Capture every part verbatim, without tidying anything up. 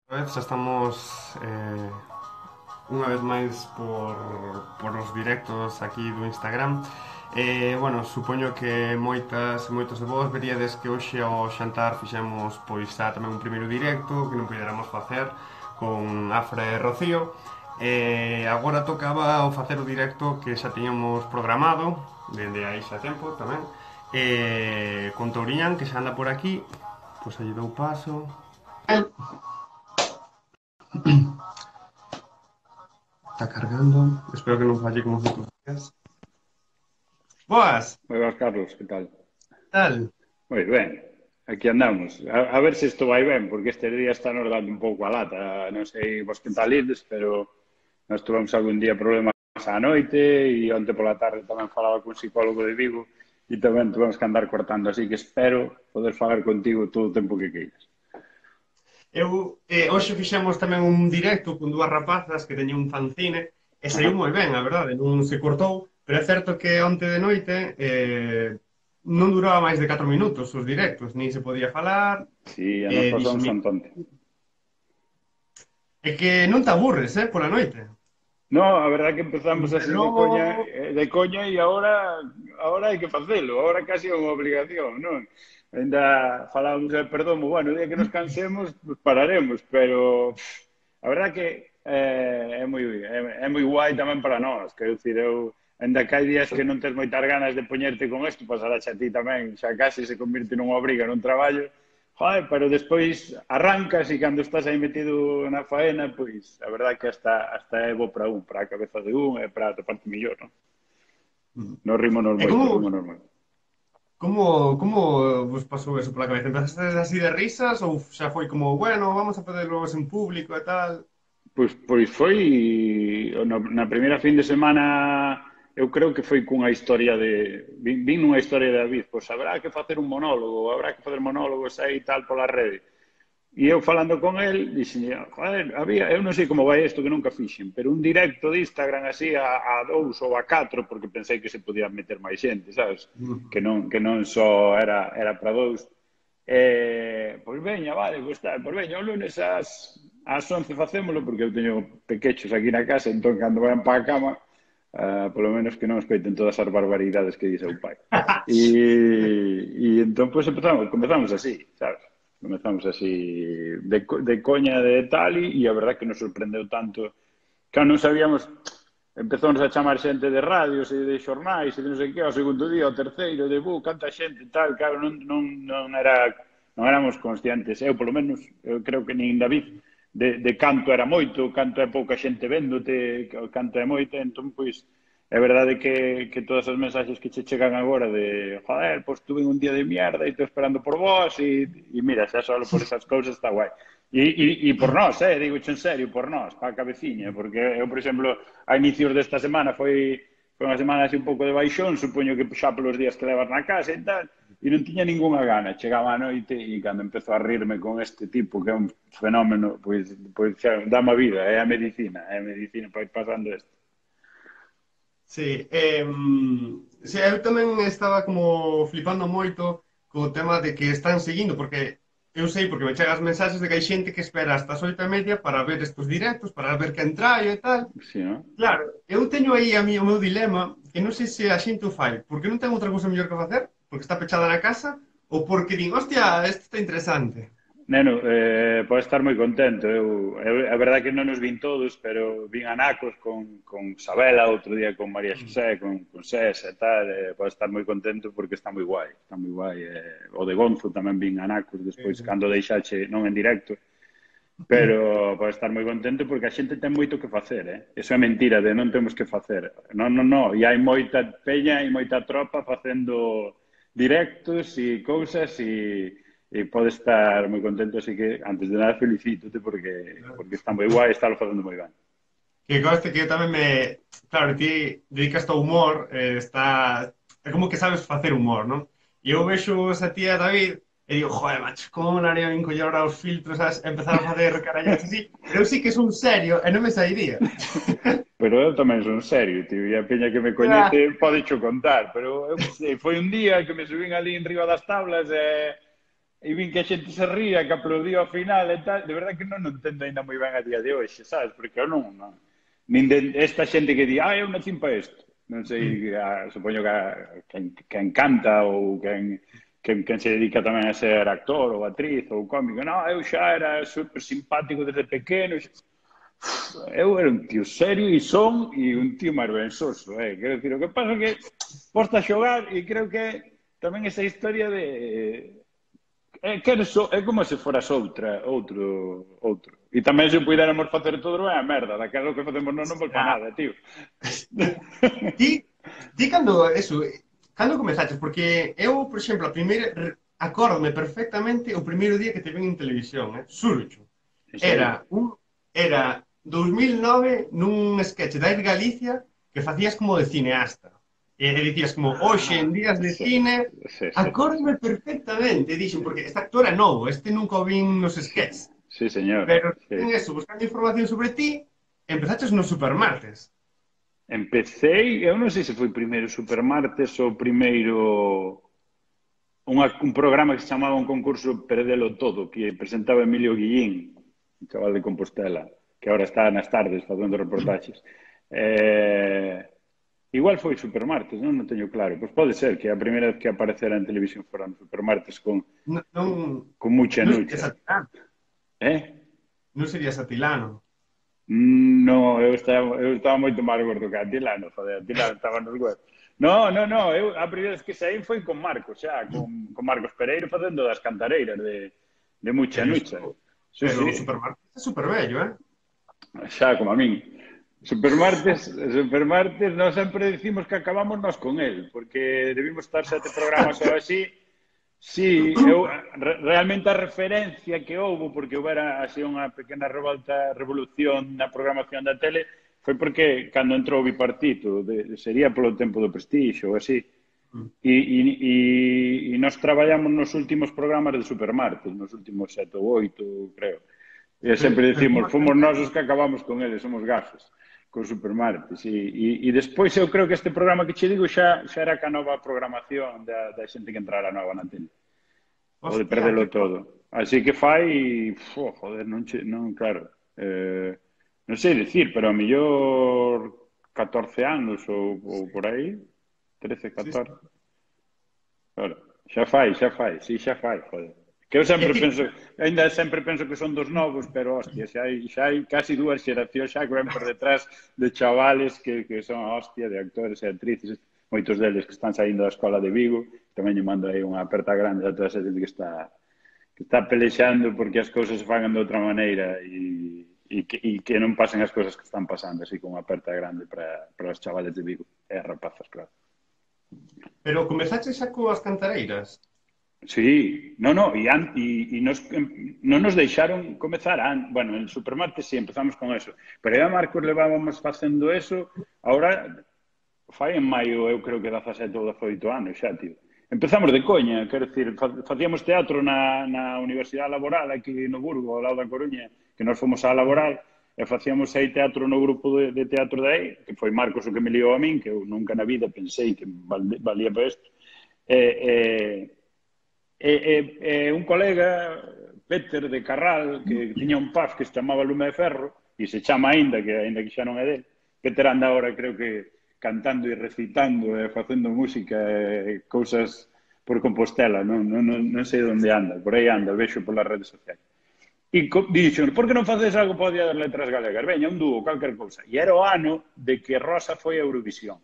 Otra vez xa estamos eh, unha vez máis por, por os directos aquí do Instagram. Eh, bueno, supoño que moitas moitos de vos veríades que hoxe ao xantar fixemos pois xa tamén un primeiro directo que non puderamos facer con Afra e Rocío. Eh, agora tocaba o facer o directo que xa tiñamos programado dende aí xa tempo tamén, eh, con Touriñán que xa anda por aquí. Pois aí dou paso. Está cargando. Espero que non falle como os outros días. Boas, Moi boas, Carlos, que tal? tal? Moi ben, aquí andamos. A, a ver se isto vai ben, porque este día está nos dando un pouco a lata. Non sei vos que tal ides, pero nós tuvemos algún día problemas á noite e onte pola tarde tamén falaba cun psicólogo de Vigo e tamén tuvemos que andar cortando, así que espero poder falar contigo todo o tempo que queiras. Eu, eh, hoxe fixemos tamén un directo con dúas rapazas que teñen un fanzine e saiu Ajá. moi ben, a verdade, non se cortou, pero é certo que onte de noite eh, non duraba máis de catro minutos os directos, nin se podía falar, Si, a nós e dixen, pasamos "Mi- onte. é que non te aburres, eh, pola noite. No, a verdade é que empezamos así de coña, Logo, eh, de coña e agora agora hai que facelo, agora casi é unha obrigación, non? Ainda falábamos de perdomo, bueno, o día que nos cansemos, pues pararemos, pero pff, a verdade que eh, é moi é, é moi guai tamén para nós, quero dicir, eu ainda que hai días que non tes moitas ganas de poñerte con isto, pasará a ti tamén, xa casi se convirte nunha obriga nun traballo. Joder, pero despois arrancas e cando estás aí metido na faena, pois a verdade que hasta, hasta é bo para un, para a cabeza de un e para a parte mellor, non? Non rímonos e moito, como, rímonos moito. como, como vos pasou eso pola cabeza? Empezaste así de risas ou xa foi como, bueno, vamos a facelo en público e tal? Pois, pois foi na, na primeira fin de semana eu creo que foi cunha historia de vin, vin nunha historia de David, pois habrá que facer un monólogo, habrá que facer monólogos aí tal pola rede. E eu falando con el, dixen, joder, había, eu non sei como vai isto que nunca fixen, pero un directo de Instagram así a, a dous ou a catro, porque pensei que se podía meter máis xente, sabes? Que non, que non só era, era para dous. Eh, pois veña, vale, pois tal, pois veña, o lunes ás, ás once facémolo, porque eu teño pequechos aquí na casa, entón cando vayan para a cama, uh, polo menos que non escoiten todas as barbaridades que dice o pai. E, e entón, pois empezamos, comezamos así, sabes? Comezamos así de, de coña de tal e, e a verdad que nos sorprendeu tanto que non sabíamos, empezamos a chamar xente de radios e de xornais e de non sei que, ao segundo día, ao terceiro, de bu, canta xente e tal, claro, non, non, non era non éramos conscientes, eu polo menos eu creo que nin David de, de canto era moito, canto é pouca xente véndote, canto é moito, entón pois é verdade que, que todas as mensaxes que che chegan agora de joder, pois tuve un día de mierda e estou esperando por vos e, e mira, xa só por esas cousas está guai. E, e, e por nós, eh, digo en serio, por nós, para a cabeciña, porque eu, por exemplo, a inicios desta semana foi, foi unha semana así un pouco de baixón, supoño que xa pelos días que levas na casa e tal, e non tiña ningunha gana. Chegaba a noite e cando empezou a rirme con este tipo, que é un fenómeno, pois, pois xa, dá má vida, é a medicina, é a medicina para ir pasando isto. Sí, eh, sí, eu tamén estaba como flipando moito co tema de que están seguindo, porque eu sei, porque me chegan as mensaxes de que hai xente que espera hasta as oito e media para ver estes directos, para ver quen traio e tal. Sí, non? Claro, eu teño aí a mí o meu dilema, que non sei se a xente o fai, porque non ten outra cousa mellor que facer, porque está pechada na casa, ou porque din, hostia, isto está interesante. Neno, eh, pode estar moi contento. Eu, eu, a verdade que non nos vin todos, pero vin a Nacos con, con Sabela, outro día con María Xosé, con, con Sés e tal. Eh, pode estar moi contento porque está moi guai. Está moi guai. Eh, o de Gonzo tamén vin a Nacos despois, Eh, cando deixache, non en directo. Pero pode estar moi contento porque a xente ten moito que facer, eh? Eso é mentira de non temos que facer. Non, non, non. E hai moita peña e moita tropa facendo directos e cousas e e pode estar moi contento, así que antes de nada felicítote porque porque está moi guai, está lo facendo moi ben. Que conste que eu tamén me... Claro, ti dedicas ao humor, eh, está... É como que sabes facer humor, non? E eu vexo esa tía David e digo, joder, macho, como molaría ben coller ahora os filtros, sabes? Empezar a facer carallas así. Pero eu sí que son serio e non me sairía. Pero eu tamén son serio, tío, e a peña que me Ah, coñece pode cho contar, pero eu que sei, foi un día que me subín ali en riba das tablas e e vin que a xente se ría, que aplaudiu ao final e tal, de verdade que non o entendo ainda moi ben a día de hoxe, sabes? Porque eu non, non nin de esta xente que di, ah, eu nacín para isto. Non sei, a, supoño que, a, que, que encanta ou que, que, que se dedica tamén a ser actor ou actriz ou cómico. Non, eu xa era super simpático desde pequeno. Eu era un tío serio e son e un tío máis bensoso, eh? Quero dicir, o que pasa é que posta a xogar e creo que tamén esa historia de É, que eres, é como se foras outra, outro, outro. E tamén se puidéramos facer todo é a merda, daquilo que facemos non non volve para nada, tío. Ti, ti cando, eso, cando comezaches? Porque eu, por exemplo, a primeira, acórdome perfectamente o primeiro día que te ven en televisión, eh? Surcho. Era un, era dos mil nove nun sketch da Air Galicia que facías como de cineasta. E dicías como, hoxe en días de cine, sí, sí. acórdome perfectamente, dixen, porque este actor é novo, este nunca o vin nos sketches. Sí, señor. Pero sí. en eso, buscando información sobre ti, empezaches nos Supermartes. Empecé, eu non sei se foi primeiro Supermartes ou primeiro unha, un programa que se chamaba un concurso Perdelo Todo, que presentaba Emilio Guillín, un chaval de Compostela, que agora está nas tardes facendo reportaxes. Eh... Igual foi Supermartes, non, non teño claro. Pois pode ser que a primeira vez que aparecera en televisión fora no Supermartes con, non, non, con mucha non nucha. Serías Atilano. Eh? Non serías Atilano. No, eu estaba, eu estaba moito máis gordo que Atilano, joder, Atilano estaba nos huevos. No, no, no, eu a primeira vez que saí foi con Marcos, xa, con, con Marcos Pereiro facendo das cantareiras de, de mucha Pero, nucha. Sí, pero sí. o Supermartes é super bello, eh? Xa, como a min. Supermartes, Supermartes, nós sempre dicimos que acabamos nós con el, porque debimos estar sete programas ou así. Sí, eu, re, realmente a referencia que houve, porque houbera así unha pequena revolta, revolución na programación da tele, foi porque cando entrou o bipartito, de, sería polo tempo do Prestixo ou así, e, e, e, e nós traballamos nos últimos programas de Supermartes, nos últimos sete ou oito, creo. E sempre dicimos, fomos nós os que acabamos con eles, somos gafes, con Supermartes. E, e, e despois eu creo que este programa que che digo xa, xa era ca nova programación da, da xente que entrara nova na tele. O de Perdelo Todo. Así que fai, oh, joder, non, che, non claro, eh, non sei dicir, pero a mellor catorce anos ou, ou por aí, trece, catorce. Claro, xa fai, xa fai, sí, xa fai, joder. Que eu sempre penso, ainda sempre penso que son dos novos, pero, hostia, xa hai, xa hai casi dúas xeracións xa que ven por detrás de chavales que, que son a hostia de actores e actrices, moitos deles que están saindo da escola de Vigo, tamén lle mando aí unha aperta grande a toda esa xente que está que está pelexando porque as cousas se fagan de outra maneira e, e, que, e que non pasen as cousas que están pasando, así como unha aperta grande para, para os chavales de Vigo e as rapazas, claro. Pero comezaste xa coas cantareiras? Sí, no, no, e, e, e nos, non nos deixaron comezar an, bueno, en Supermartes sí, empezamos con eso, pero a Marcos levábamos facendo eso, ahora fai en maio, eu creo que dezasete ou dezoito anos xa, tío. Empezamos de coña, quero dicir, facíamos teatro na, na Universidade Laboral aquí no Burgo, ao lado da Coruña, que nos fomos á Laboral, e facíamos aí teatro no grupo de, de teatro de aí, que foi Marcos o que me liou a min, que eu nunca na vida pensei que valía para isto, e... Eh, E, e, e un colega, Peter de Carral, que tiña un pub que se chamaba Lume de Ferro, e se chama aínda, que aínda que xa non é del. Peter anda ahora, creo que, cantando e recitando e facendo música e cousas por Compostela, non, non, non, non sei onde anda, por aí anda, vexo polas redes sociais. E dixo, por que non faces algo para o Día das Letras Galegas? Veña, un dúo, calquer cousa. E era o ano de que Rosa foi a Eurovisión.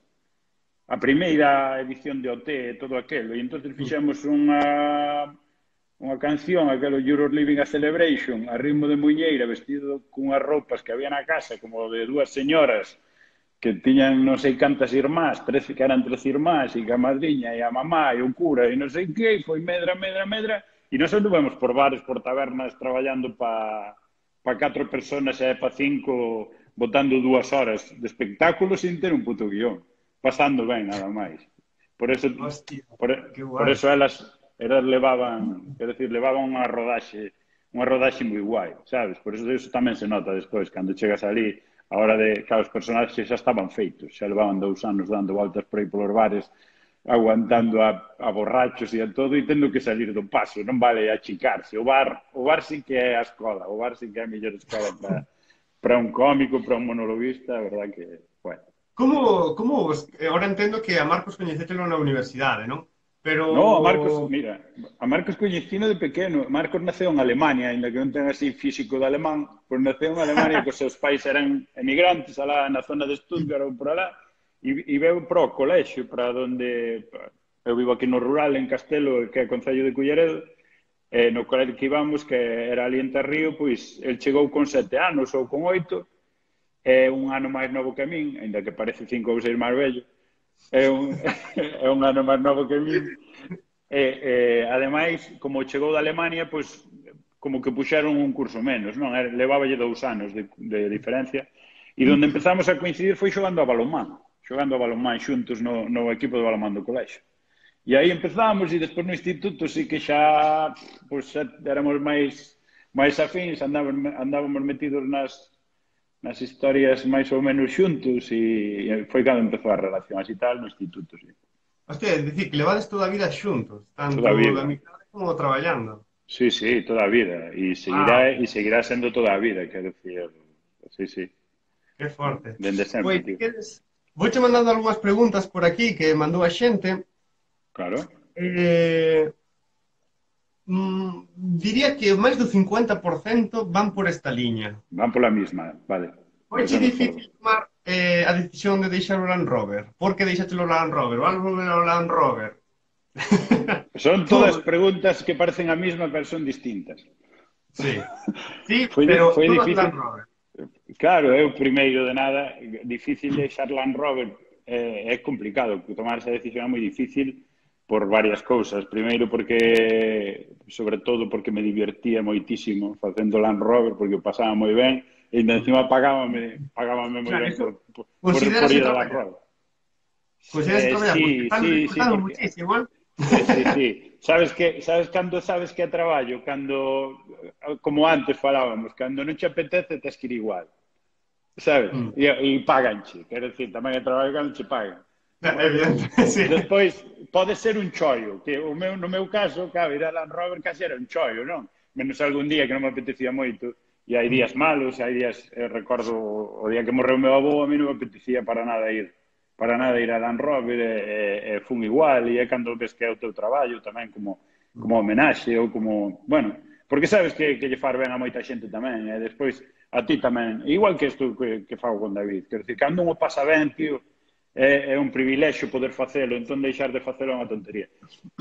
A primeira edición de O T e todo aquelo, e entón fixemos unha, unha canción, aquelo You're Living a Celebration, a ritmo de muñeira, vestido cunhas roupas que había na casa, como de dúas señoras que tiñan non sei cantas irmás, trece, que eran trece irmás, e que a madriña, e a mamá, e o cura, e non sei que, e foi medra, medra, medra, e nós anduvemos por bares, por tabernas, traballando pa, pa catro personas e pa cinco, botando dúas horas de espectáculo sin ter un puto guión. Pasando ben, nada máis. Por eso, Hostia, por, por eso elas, elas levaban, quero decir, levaban unha rodaxe, unha rodaxe moi guai, sabes? Por eso eso tamén se nota despois, cando chegas ali, a hora de, claro, os personaxes xa estaban feitos, xa levaban dous anos dando voltas por aí polos bares, aguantando a, a borrachos e a todo e tendo que salir do paso, non vale achicarse. O bar, o bar sí que é a escola, o bar sí que é a mellor escola para para un cómico, para un monologuista, a verdad que, bueno. Como, como, ahora entendo que a Marcos coñecételo na universidade, non? Pero... No, a Marcos, mira, a Marcos coñecino de pequeno. Marcos naceu en Alemania, ainda que non ten así físico de alemán, pois naceu en Alemania, que os seus pais eran emigrantes alá na zona de Stuttgart ou por alá, e, e veu para o colexio, para onde... Eu vivo aquí no rural, en Castelo, que é o Concello de Culleredo, e no colexio que íbamos, que era ali en Tarrío, pois el chegou con sete anos ou con oito, é un ano máis novo que a min, ainda que parece cinco ou seis máis vello, é un, é un ano máis novo que a min. E, e, ademais, como chegou da Alemania, pois, como que puxeron un curso menos, non? Leváballe dous anos de, de diferencia. E onde empezamos a coincidir foi xogando a balonmán, xogando a balonmán xuntos no, no equipo de balonmán do colexio. E aí empezamos, e despois no instituto sí que xa, pois, xa éramos máis, máis afíns, andábamos, andábamos metidos nas nas historias máis ou menos xuntos e foi cando empezou a relación así tal no instituto, sí. Hostia, é dicir, que levades toda a vida xuntos, tanto Toda a vida. da amizade como traballando. Sí, sí, toda a vida. E seguirá, Ah, e seguirá sendo toda a vida, quero dicir, sí, sí. que forte. Dende sempre, Pois, tío. queres... Vouche mandando algunhas preguntas por aquí que mandou a xente. Claro. Eh, mm, diría que máis do cincuenta por cento van por esta liña. Van pola mesma, vale. Foiche difícil tomar eh, a decisión de deixar o Land Rover. Por que deixaste o Land Rover? Vas volver ao Land Rover? Son todas preguntas que parecen a mesma, pero son distintas. Sí, sí, foi, pero foi todas difícil. Land Rover. Claro, é o primeiro de nada, difícil deixar Land Rover, é, é complicado, tomar esa decisión é moi difícil por varias cousas. Primeiro porque, sobre todo, porque me divertía moitísimo facendo Land Rover, porque o pasaba moi ben, e encima pagábame, pagábame moi Claro, ben eso por, por, por, por ir a Land Rover. Consideras Eh, traballar, porque sí, están sí, sí, reclutando porque... muchísimo, ¿eh? Sí, sí, sí. Sabes que sabes cando sabes que é traballo, cando como antes falábamos, cando non te apetece tes que ir igual. Sabes? Mm. E, e paganche, quero dicir, tamén é traballo cando che pagan. Evidente, sí. Despois, pode ser un chollo, que o meu, no meu caso, claro, ir a Land Rover casi era un chollo, non? Menos algún día que non me apetecía moito, e hai días malos, hai días, eh, recordo o día que morreu o meu avó, a mí non me apetecía para nada ir para nada ir a Land Rover, e, e, e fun igual, e é cando ves que é o teu traballo tamén como, como homenaxe ou como, bueno, porque sabes que, que lle far ben a moita xente tamén, e despois a ti tamén, igual que isto que, que fago con David, quero dicir, cando un o pasa ben, tío, é, é un privilexio poder facelo, entón deixar de facelo é unha tontería.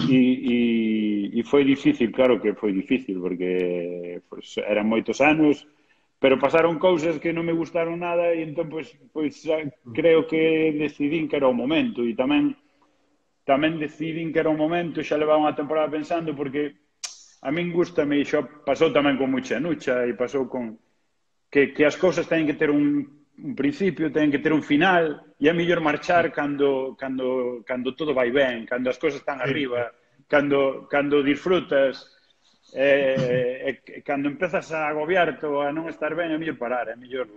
E, e, e foi difícil, claro que foi difícil, porque pues, eran moitos anos, pero pasaron cousas que non me gustaron nada e entón, pois, pois creo que decidín que era o momento e tamén tamén decidín que era o momento, xa levaba unha temporada pensando porque a min gustame e xa pasou tamén con Mucha Nucha e pasou con que, que as cousas teñen que ter un, un principio, teñen que ter un final e é mellor marchar cando, cando, cando todo vai ben, cando as cousas están arriba, cando, cando disfrutas. Eh, eh, cando empezas a agobiarte ou a non estar ben é mellor parar, é mellor.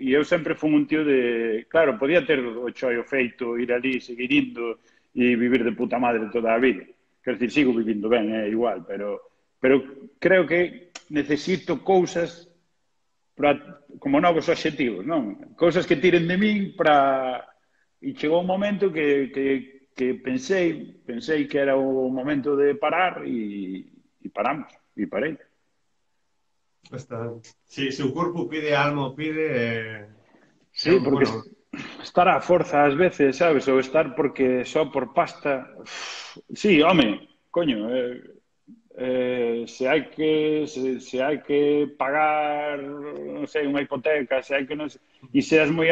E eu sempre fui un tío de, claro, podía ter o chollo feito, ir ali, seguir indo e vivir de puta madre toda a vida, quero dicir, sigo vivindo ben, é igual, pero pero creo que necesito cousas para, como novos obxectivos, non? Cousas que tiren de min para... E chegou un momento que, que, que pensei pensei que era o momento de parar e e paramos, e parei. Está. Sí, se o corpo pide, a alma o pide... Eh... Sí, Eu, porque bueno... estar á forza ás veces, sabes? Ou estar porque só por pasta... Uf, sí, home, coño, eh, eh, se hai que se, se hai que pagar, non sei, unha hipoteca, se hai que non sei, e se, moi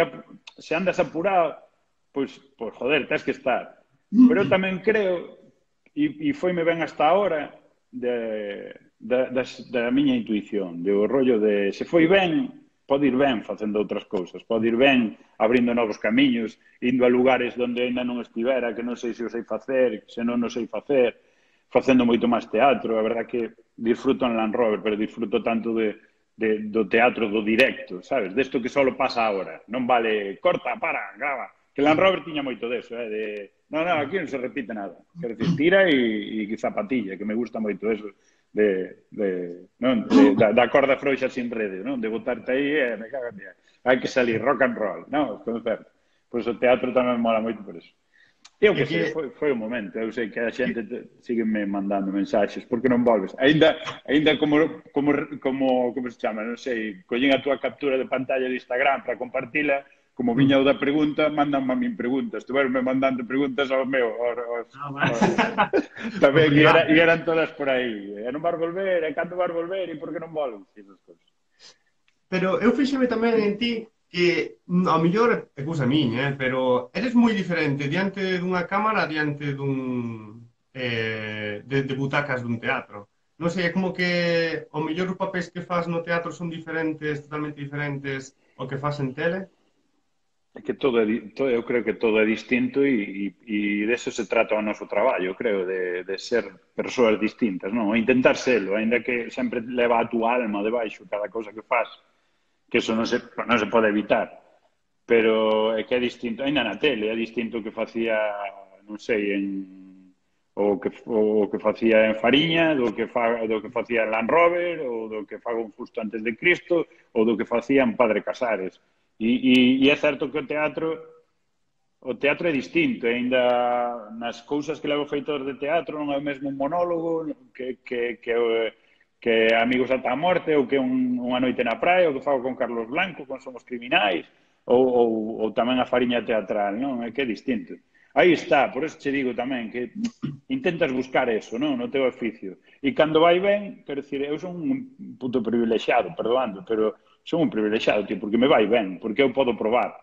se andas apurado, pois, pois joder, tens que estar. Pero eu tamén creo, e, e foime ben hasta ahora, de, da, das, da miña intuición, de o rollo de se foi ben, pode ir ben facendo outras cousas, pode ir ben abrindo novos camiños, indo a lugares onde ainda non estivera, que non sei se o sei facer, se non o sei facer, facendo moito máis teatro, a verdad que disfruto en Land Rover, pero disfruto tanto de, de, do teatro do directo, sabes? Desto que só pasa agora, non vale, corta, para, grava, que Land Rover tiña moito deso, eh, de No, no, aquí non se repite nada. Quero dicir, tira e, e zapatilla, que me gusta moito eso de, de, non? de da, da corda frouxa sin rede, non? De botarte aí e me cago en día. Hai que salir rock and roll, non? Con certo. Pois o teatro tamén me mola moito por eso. Eu É que que, sei, foi, foi o momento. Eu sei que a que xente te, sigue me mandando mensaxes. Por que non volves? Ainda, ainda como, como, como, como se chama, non sei, collín a túa captura de pantalla de Instagram para compartila, como viña o da pregunta, mandanme a min preguntas. Estuveronme mandando preguntas ao meu, aos, aos, ah, vale. aos, tamén, e, era, Obrigado. e eran todas por aí. E non vas volver, e cando vas volver, e por que non volves? E esas cousas. Pero eu fíxeme tamén en ti que, mm, ao mellor é cousa miña, eh, pero eres moi diferente diante dunha cámara diante dun eh, de, de butacas dun teatro. Non sei, é como que ao mellor os papéis que faz no teatro son diferentes, totalmente diferentes ao que faz en tele. É que todo é, todo, eu creo que todo é distinto e, e, e deso se trata o noso traballo, creo, de, de ser persoas distintas, non? O intentar selo, ainda que sempre leva a túa alma debaixo cada cousa que faz, que eso non se, non se pode evitar. Pero é que é distinto, ainda na tele, é distinto o que facía, non sei, en o que o que facía en Fariña, do que fa, do que facía en Land Rover, ou do que faga un Fusto antes de Cristo, ou do que facía en Padre Casares. E, e, e é certo que o teatro o teatro é distinto, e ainda nas cousas que levo feitor de teatro non é o mesmo un monólogo que, que, que, que Amigos ata a morte, ou que un, unha noite na praia, ou que fago con Carlos Blanco, con Somos Criminais, ou, ou, ou tamén a Fariña teatral, non? É que é distinto. Aí está, por eso che digo tamén que intentas buscar eso, non? No teu oficio. E cando vai ben, quero dicir, eu son un puto privilexiado, perdoando, pero son un privilexiado, tío, porque me vai ben, porque eu podo probar,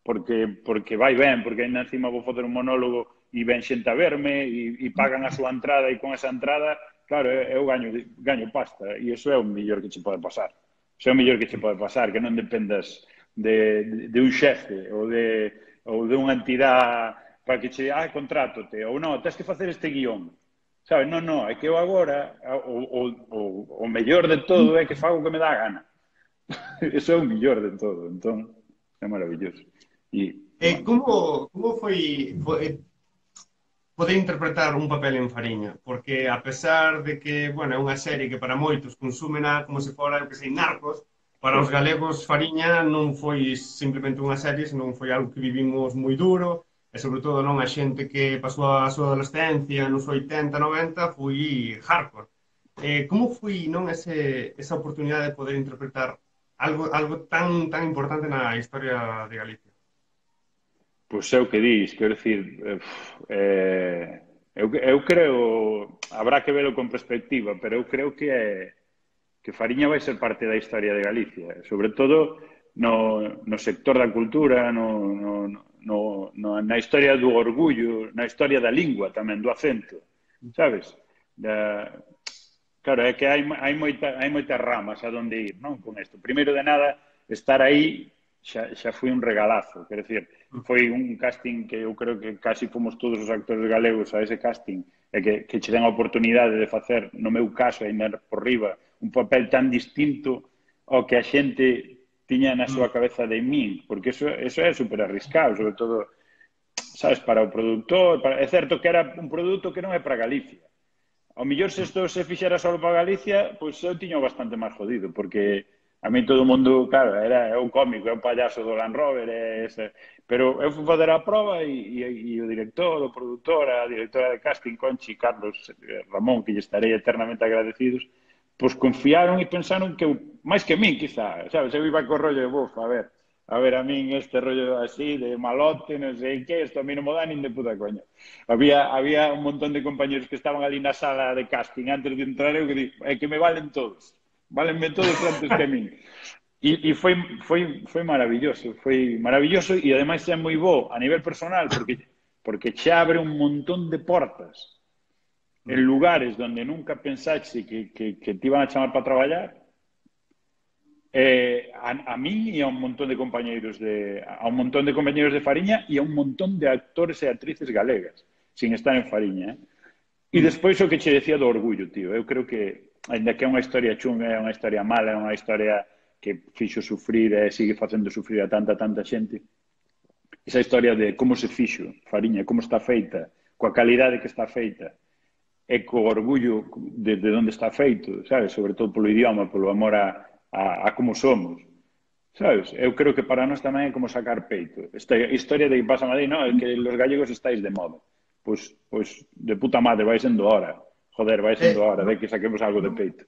porque, porque vai ben, porque ainda encima vou fazer un monólogo e ven xente a verme e, e pagan a súa entrada e con esa entrada, claro, eu gaño, gaño pasta e iso é o mellor que che pode pasar. Iso é o mellor que che pode pasar, que non dependas de, de, de un xefe ou de, ou de unha entidade para que che, ah, contrátote, ou non, tens que facer este guión. Sabes? Non, non, é que eu agora, o, o, o, o mellor de todo é que fago o que me dá a gana. Eso é o mellor de todo, entón, é maravilloso. E, E bueno, como, como foi, foi poder interpretar un papel en Fariña? Porque a pesar de que, bueno, é unha serie que para moitos consúmena como se fora, eu que sei, Narcos, para os sí. galegos Fariña non foi simplemente unha serie, senón foi algo que vivimos moi duro, e sobre todo non a xente que pasou a súa adolescencia nos oitenta, noventa, foi hardcore. Eh, como foi non ese, esa oportunidade de poder interpretar algo, algo tan, tan importante na historia de Galicia? Pois é o que dis, quero dicir, eh, eu, eu creo, habrá que velo con perspectiva, pero eu creo que é que Fariña vai ser parte da historia de Galicia, sobre todo no, no sector da cultura, no, no, no, no, na historia do orgullo, na historia da lingua tamén, do acento, sabes? Da, claro, é que hai, hai, moita, hai moitas ramas a donde ir, non? Con isto. Primeiro de nada, estar aí xa, xa foi un regalazo, quero dicir, foi un casting que eu creo que casi fomos todos os actores galegos a ese casting, e que, que che den a oportunidade de facer, no meu caso, ainda por riba, un papel tan distinto ao que a xente tiña na súa cabeza de min, porque eso, eso é super arriscado, sobre todo, sabes, para o produtor, para... é certo que era un produto que non é para Galicia. Ao mellor se isto se fixera só para Galicia, pois eu tiño bastante máis jodido, porque a mí todo o mundo, claro, era o cómico, é o payaso do Land Rover, é ese... pero eu fui fazer a prova e, e, e o director, o produtor, a directora de casting, Conchi, Carlos Ramón, que lle estarei eternamente agradecidos, pois confiaron e pensaron que eu, máis que min, quizá, sabes, eu iba co rollo de buf, a ver, a ver, a min este rollo así, de malote, non sei que, isto a mí non me dá nin de puta coña. Había, había un montón de compañeros que estaban ali na sala de casting antes de entrar, eu que digo, é que me valen todos. Valenme todos antes que a min. E, e foi, foi, foi maravilloso, foi maravilloso e ademais é moi bo a nivel personal porque, porque che abre un montón de portas en lugares donde nunca pensaxe que, que, que te iban a chamar para traballar, eh, a, a mí e a un montón de compañeiros de a un montón de compañeiros de Fariña e a un montón de actores e actrices galegas sin estar en Fariña, eh? E despois o que che decía do orgullo, tío, eu creo que ainda que é unha historia chunga, é unha historia mala, é unha historia que fixo sufrir e sigue facendo sufrir a tanta, tanta xente, esa historia de como se fixo fariña, como está feita, coa calidade que está feita, e co orgullo de, de onde está feito, sabes? Sobre todo polo idioma, polo amor a, a, a como somos, sabes? Eu creo que para nós tamén é como sacar peito. Esta historia de que pasa a Madrid, no, é que los gallegos estáis de moda. Pois, pois de puta madre, vai sendo hora. Joder, vai sendo Eh, hora de que saquemos algo de peito.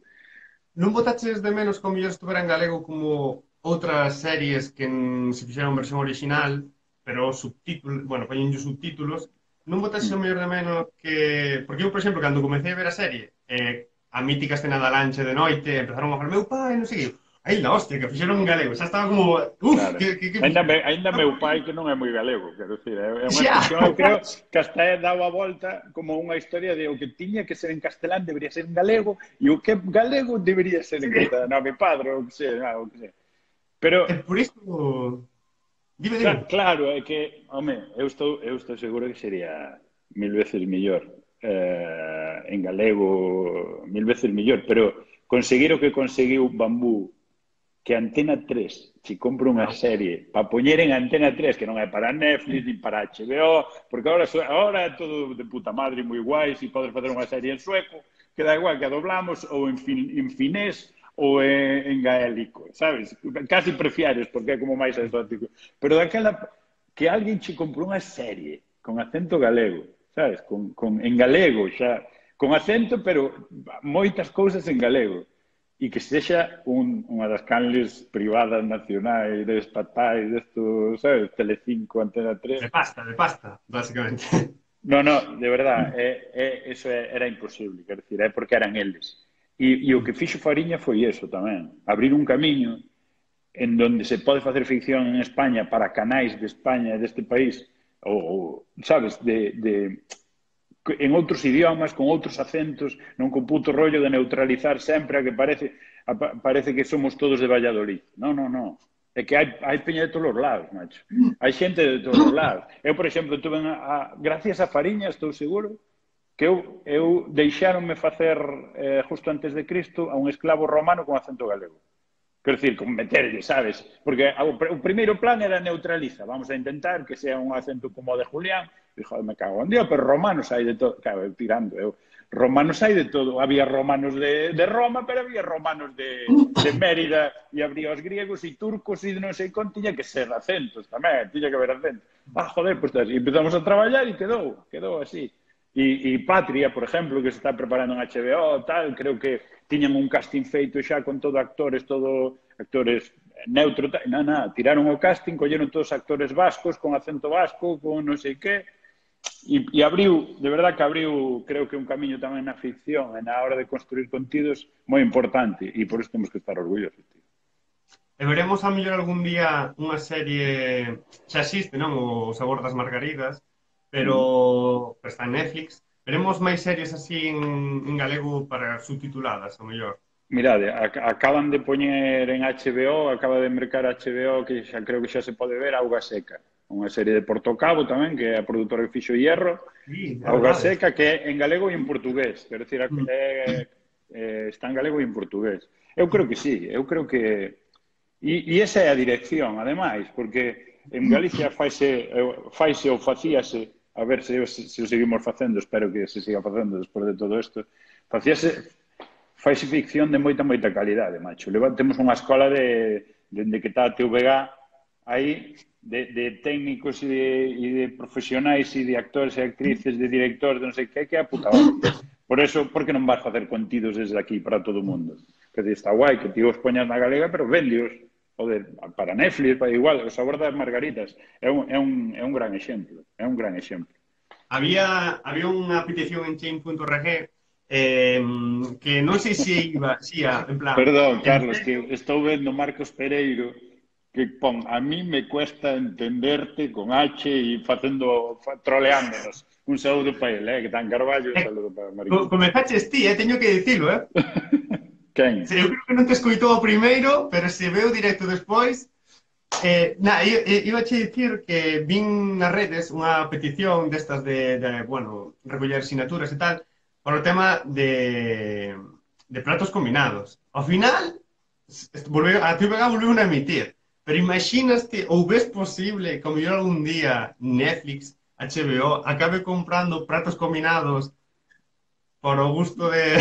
non botaches de menos que o mellor estuvera en galego como outras series que en, se fixeron versión original, pero subtítulos, bueno, poñenlle subtítulos, non botaches o Mm. mellor de menos que... Porque eu, por exemplo, cando comecei a ver a serie, eh, a mítica escena da lancha de noite, empezaron a falar, meu pai, non sei que, aí la hostia, que fixeron en galego, xa estaba como, uf, Claro. que, que, que Ainda, me, fixeron? ainda meu pai, que non é moi galego, quero dicir, é unha Xa! expresión, eu creo que hasta é dado a volta como unha historia de o que tiña que ser en castelán debería ser en galego e o que é galego debería ser en Sí. castelán. No, mi padre, o que sea, no, o que sea. Pero, E por iso... Dime, dime. cla- claro, é que, home, eu estou, eu estou seguro que sería mil veces mellor eh, en galego, mil veces mellor, pero conseguir o que conseguiu Bambú, que Antena tres se compra unha Ah, serie para poñer en Antena tres, que non é para Netflix ni para H B O, porque agora, agora é todo de puta madre, moi guai, se podes facer unha serie en sueco, que dá igual que a doblamos ou en, fin, en finés ou en, en gaélico, sabes? Casi prefieres, porque é como máis exótico. Pero daquela, que alguén che comprou unha serie con acento galego, sabes? Con, con, en galego xa, con acento, pero moitas cousas en galego. E que sexa un, unha das canles privadas nacionais, estatais, desto, sabes, Telecinco, Antena tres. de pasta, de pasta, básicamente. No, no, de verdad, é, é, eso é, era imposible, quer decir, é porque eran eles. E, e o que fixo Fariña foi eso tamén, abrir un camiño en donde se pode facer ficción en España para canais de España e deste país, ou, ou sabes, de, de, en outros idiomas, con outros acentos, non con puto rollo de neutralizar sempre a que parece, a, parece que somos todos de Valladolid. Non, non, non. É que hai, hai peña de todos os lados, macho. Hai xente de todos os lados. Eu, por exemplo, tuve a, a, gracias a Fariña, estou seguro, que eu, eu deixáronme facer eh, justo antes de Cristo a un esclavo romano con acento galego. Quero dicir, con meterlle, sabes? Porque o primeiro plan era neutraliza. Vamos a intentar que sea un acento como o de Julián. E, joder, me cago en Dios, pero romanos hai de todo. Claro, eu tirando, eu. Romanos hai de todo. Había romanos de, de Roma, pero había romanos de, de Mérida, e habría os griegos e turcos e non sei con, tiña que ser acentos tamén, tiña que haber acentos. Ah, joder, pues e empezamos a traballar e quedou, quedou así. E, e Patria, por exemplo, que se está preparando en H B O, tal, creo que tiñan un casting feito xa con todo actores, todo actores neutro, tal. Na, na, tiraron o casting, colleron todos actores vascos, con acento vasco, con non sei que, e, e abriu, de verdad que abriu, creo que un camiño tamén na ficción e na hora de construir contidos moi importante, e por iso temos que estar orgullosos, tío. E veremos a mellor algún día unha serie, xa existe, non? O Sabor das Margaridas, pero, pero está en Netflix. Veremos máis series así en, en galego para subtituladas, a mellor. Mirade, ac acaban de poñer en H B O, acaba de mercar H B O, que xa creo que xa se pode ver, Auga Seca. Unha serie de Portocabo tamén, que é a produtora que fixo Hierro. Sí, é Auga verdade. Seca, que é en galego e en portugués. Quero dicir, Mm. é, é, está en galego e en portugués. Eu creo que sí, eu creo que... E, e esa é a dirección, ademais, porque en Galicia faise, faise ou facíase, a ver se, se, se o seguimos facendo, espero que se siga facendo despois de todo isto, facíase... faise ficción de moita, moita calidade, macho. Leva, temos unha escola de, de, de que está a T V G aí, de, de técnicos e de, e de profesionais e de actores e actrices, de directores, de non sei que, que é a puta hora. Por eso, por que non vas facer contidos desde aquí para todo o mundo? Que está guai que ti os poñas na galega, pero vendios. Joder, para Netflix, para igual, o Sabor das Margaritas. É un, é un, é un gran exemplo. É un gran exemplo. Había, había unha petición en chain punto org eh, que non sei se iba, si a, en plan... Perdón, en Carlos, serio? que estou vendo Marcos Pereiro que pon, a mí me cuesta entenderte con H e facendo, fa, troleándonos. Un saúdo para ele, eh, que tan Carballo, un Eh, saúdo para co- Marquín. Comezaches ti, eh, teño que dicilo, eh? Quen? Se, eu creo que non te escoitou o primeiro, pero se veo directo despois... Eh, na, iba a che dicir que vin nas redes unha petición destas de, de, bueno, recoller sinaturas e tal, para o tema de, de platos combinados. Ao final, volveu, a T V G volveu a emitir. pero imaginaste, ou ves posible, como yo algún día Netflix, H B O, acabe comprando pratos combinados por o gusto de,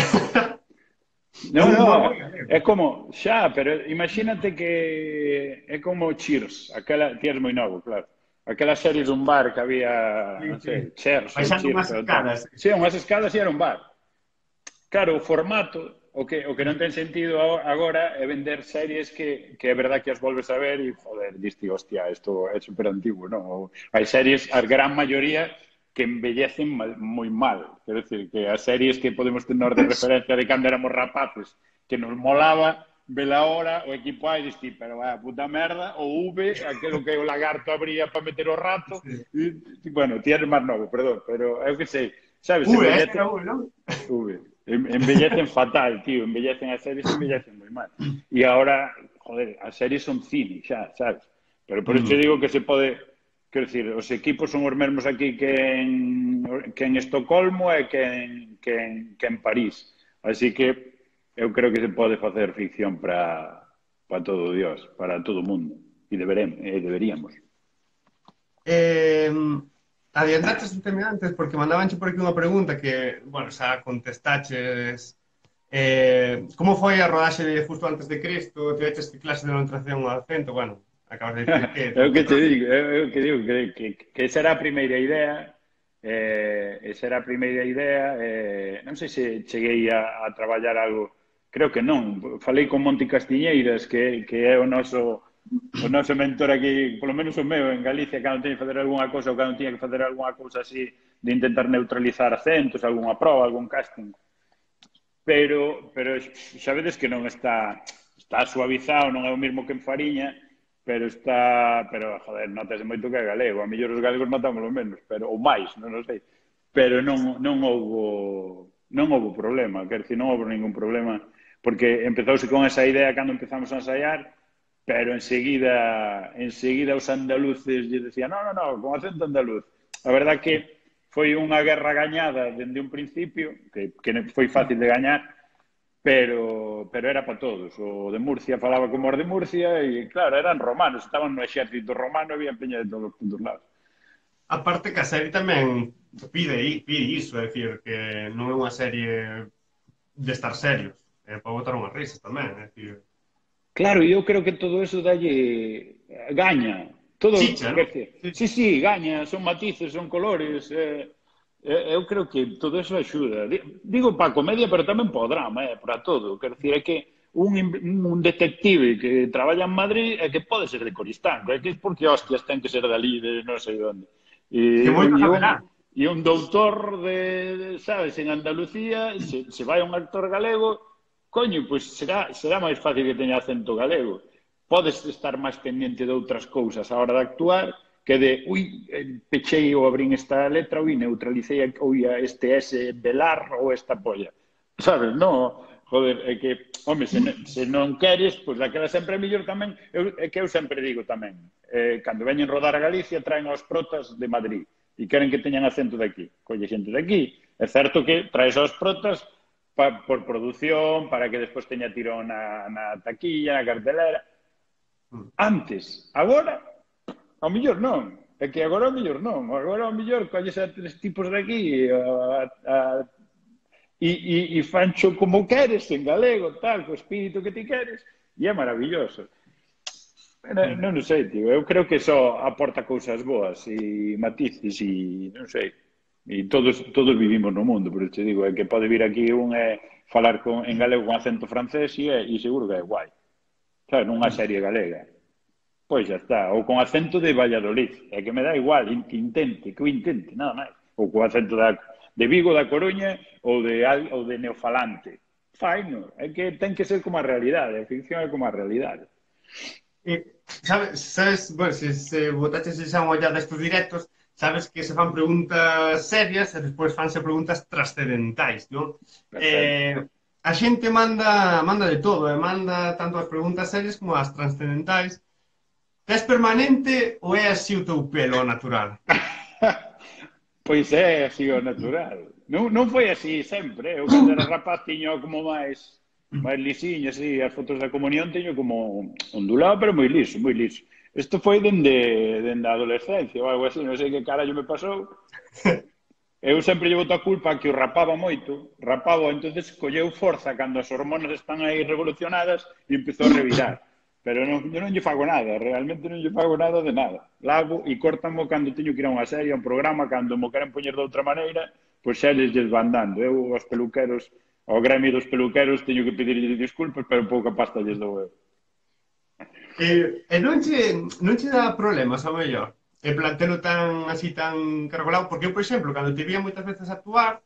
de No, un no, humor moi galego. é como, xa, pero imagínate que é como Cheers, aquela, ti eres moi novo, claro. Aquela serie dun bar que había, Sí, non sí. sei, Cheers ou Baixando Cheers unhas ou tal. escadas. Sí, unhas escadas e era un bar. Claro, o formato, o que, o que non ten sentido agora é vender series que, que é verdad que as volves a ver e, joder, diste, hostia, isto é super antigo, non? Ou, hai series, a gran maioría, que envellecen mal, moi mal. Quero dicir, que as series que podemos tener de referencia de cando éramos rapaces, que nos molaba, vela ahora, o equipo A e diste, pero vai, puta merda, o V, aquelo que o lagarto abría para meter o rato, Sí. e, bueno, ti eres máis novo, perdón, pero é o que sei, sabes, Uh, ese envellece. era uno, ¿no? V. Embellecen fatal, tío. Embellecen as series, embellecen moi mal. E agora, joder, as series son cine, xa, sabes? Pero por iso Mm. digo que se pode... Quero dicir, os equipos son os mesmos aquí que en, que en Estocolmo e que en, que, en, que en París. Así que eu creo que se pode facer ficción para para todo Dios, para todo o mundo. E deberemos, e deberíamos. Eh, adiantaches un tema antes porque mandabanche por aquí unha pregunta que, bueno, xa contestaches. Eh, como foi a rodaxe de Justo antes de Cristo? Tiveches que clase de nutrición ao acento? Bueno, acabas de dicir que É o que tampouco... te digo, é o que digo, que, que, que esa era a primeira idea, eh, esa era a primeira idea, eh, non sei se cheguei a, a traballar algo, creo que non, falei con Monti Castiñeiras, que, que é o noso o noso mentor aquí, polo menos o meu, en Galicia, cando teña que fazer algunha cousa ou cando tiña que fazer algunha cousa así de intentar neutralizar acentos, algunha proba, algún casting, pero, pero xa vedes que non está está suavizado, non é o mesmo que en Fariña, pero está, pero joder, notase moito que é galego, a mellor os galegos notamos menos, pero ou máis, non o sei. Pero non non houbo non houbo problema, quer dizer, non houbo ningún problema, porque empezouse con esa idea cando empezamos a ensaiar, pero enseguida enseguida os andaluces lle decían, "No, no, no, con acento andaluz". A verdad que foi unha guerra gañada dende un principio, que, que foi fácil de gañar, pero, pero era para todos. O de Murcia falaba como os de Murcia e, claro, eran romanos, estaban no exército romano e había peña de todos os puntos lados. Aparte que a serie tamén pide, pide iso, é dicir, que non é unha serie de estar serios, é para botar unhas risas tamén, é dicir... Claro, eu creo que todo eso dalle gaña. Todo, Chicha, quer ¿no? dizer, Sí, sí, sí, gaña, son matices, son colores, eh, eu creo que todo eso axuda. Digo para a comedia, pero tamén para o drama, eh, para todo. Quer dizer, é que un, un detective que traballa en Madrid é que pode ser de Coristanco, é que porque hostias ten que ser dali de non sei onde. E, que moitos e un, haberá. e un doutor de, sabes, en Andalucía, se, se vai un actor galego, coño, pois será, será máis fácil que teña acento galego. Podes estar máis pendiente de outras cousas a hora de actuar que de, ui, pechei ou abrín esta letra, ui, neutralicei ui, este S velar ou esta polla. Sabes, non? Joder, é que, home, se, se non queres, pois daquela sempre é mellor tamén, eu, é que eu sempre digo tamén, eh, cando veñen rodar a Galicia traen aos protas de Madrid e queren que teñan acento de aquí. Colle xente de aquí. É certo que traes aos protas pa, por produción, para que despois teña tirón na, na taquilla, na cartelera. Antes, agora, ao mellor non. É que agora ao mellor non. Agora ao mellor colles a tres tipos de aquí a, a, e, e, e fancho como queres, en galego, tal, co espírito que ti queres, e é maravilloso. Non, non sei, tío. Eu creo que só aporta cousas boas e matices e non sei. E todos todos vivimos no mundo, por te digo, é que pode vir aquí un e falar con, en galego con acento francés e, é, e seguro que é guai. Claro, nunha serie galega. Pois xa está. Ou con acento de Valladolid. É que me dá igual, que intente, que o intente, nada máis. Ou con acento da, de Vigo, da Coruña ou de, ou de Neofalante. Faino. É que ten que ser como a realidade. A ficción é como a realidade. Eh, sabes, sabes, bueno, se, se botaches xa unha ollada estes directos, sabes que se fan preguntas serias e despois fanse preguntas trascendentais, non? Eh, a xente manda manda de todo, e manda tanto as preguntas serias como as trascendentais. Tes permanente ou é así o teu pelo natural? Pois é así o natural. Non, non foi así sempre. Eu cando era rapaz tiño como máis máis lisiñas, así, as fotos da comunión teño como ondulado, pero moi liso, moi liso. Isto foi dende, dende a adolescencia ou algo así, non sei que carallo me pasou. Eu sempre lle boto a culpa que o rapaba moito, rapaba, entonces colleu forza cando as hormonas están aí revolucionadas e empezou a revirar. Pero non, eu non lle fago nada, realmente non lle fago nada de nada. Lavo e córtamo cando teño que ir a unha serie, a un programa, cando mo queren poñer de outra maneira, pois xa les lles van dando. Eu aos peluqueros, ao gremio dos peluqueros, teño que pedirlle disculpas, pero pouca pasta lles dou eu. E, e non che, non che dá problemas, ao mellor, e plantelo tan así tan cargolado, porque eu, por exemplo, cando te vía moitas veces actuar,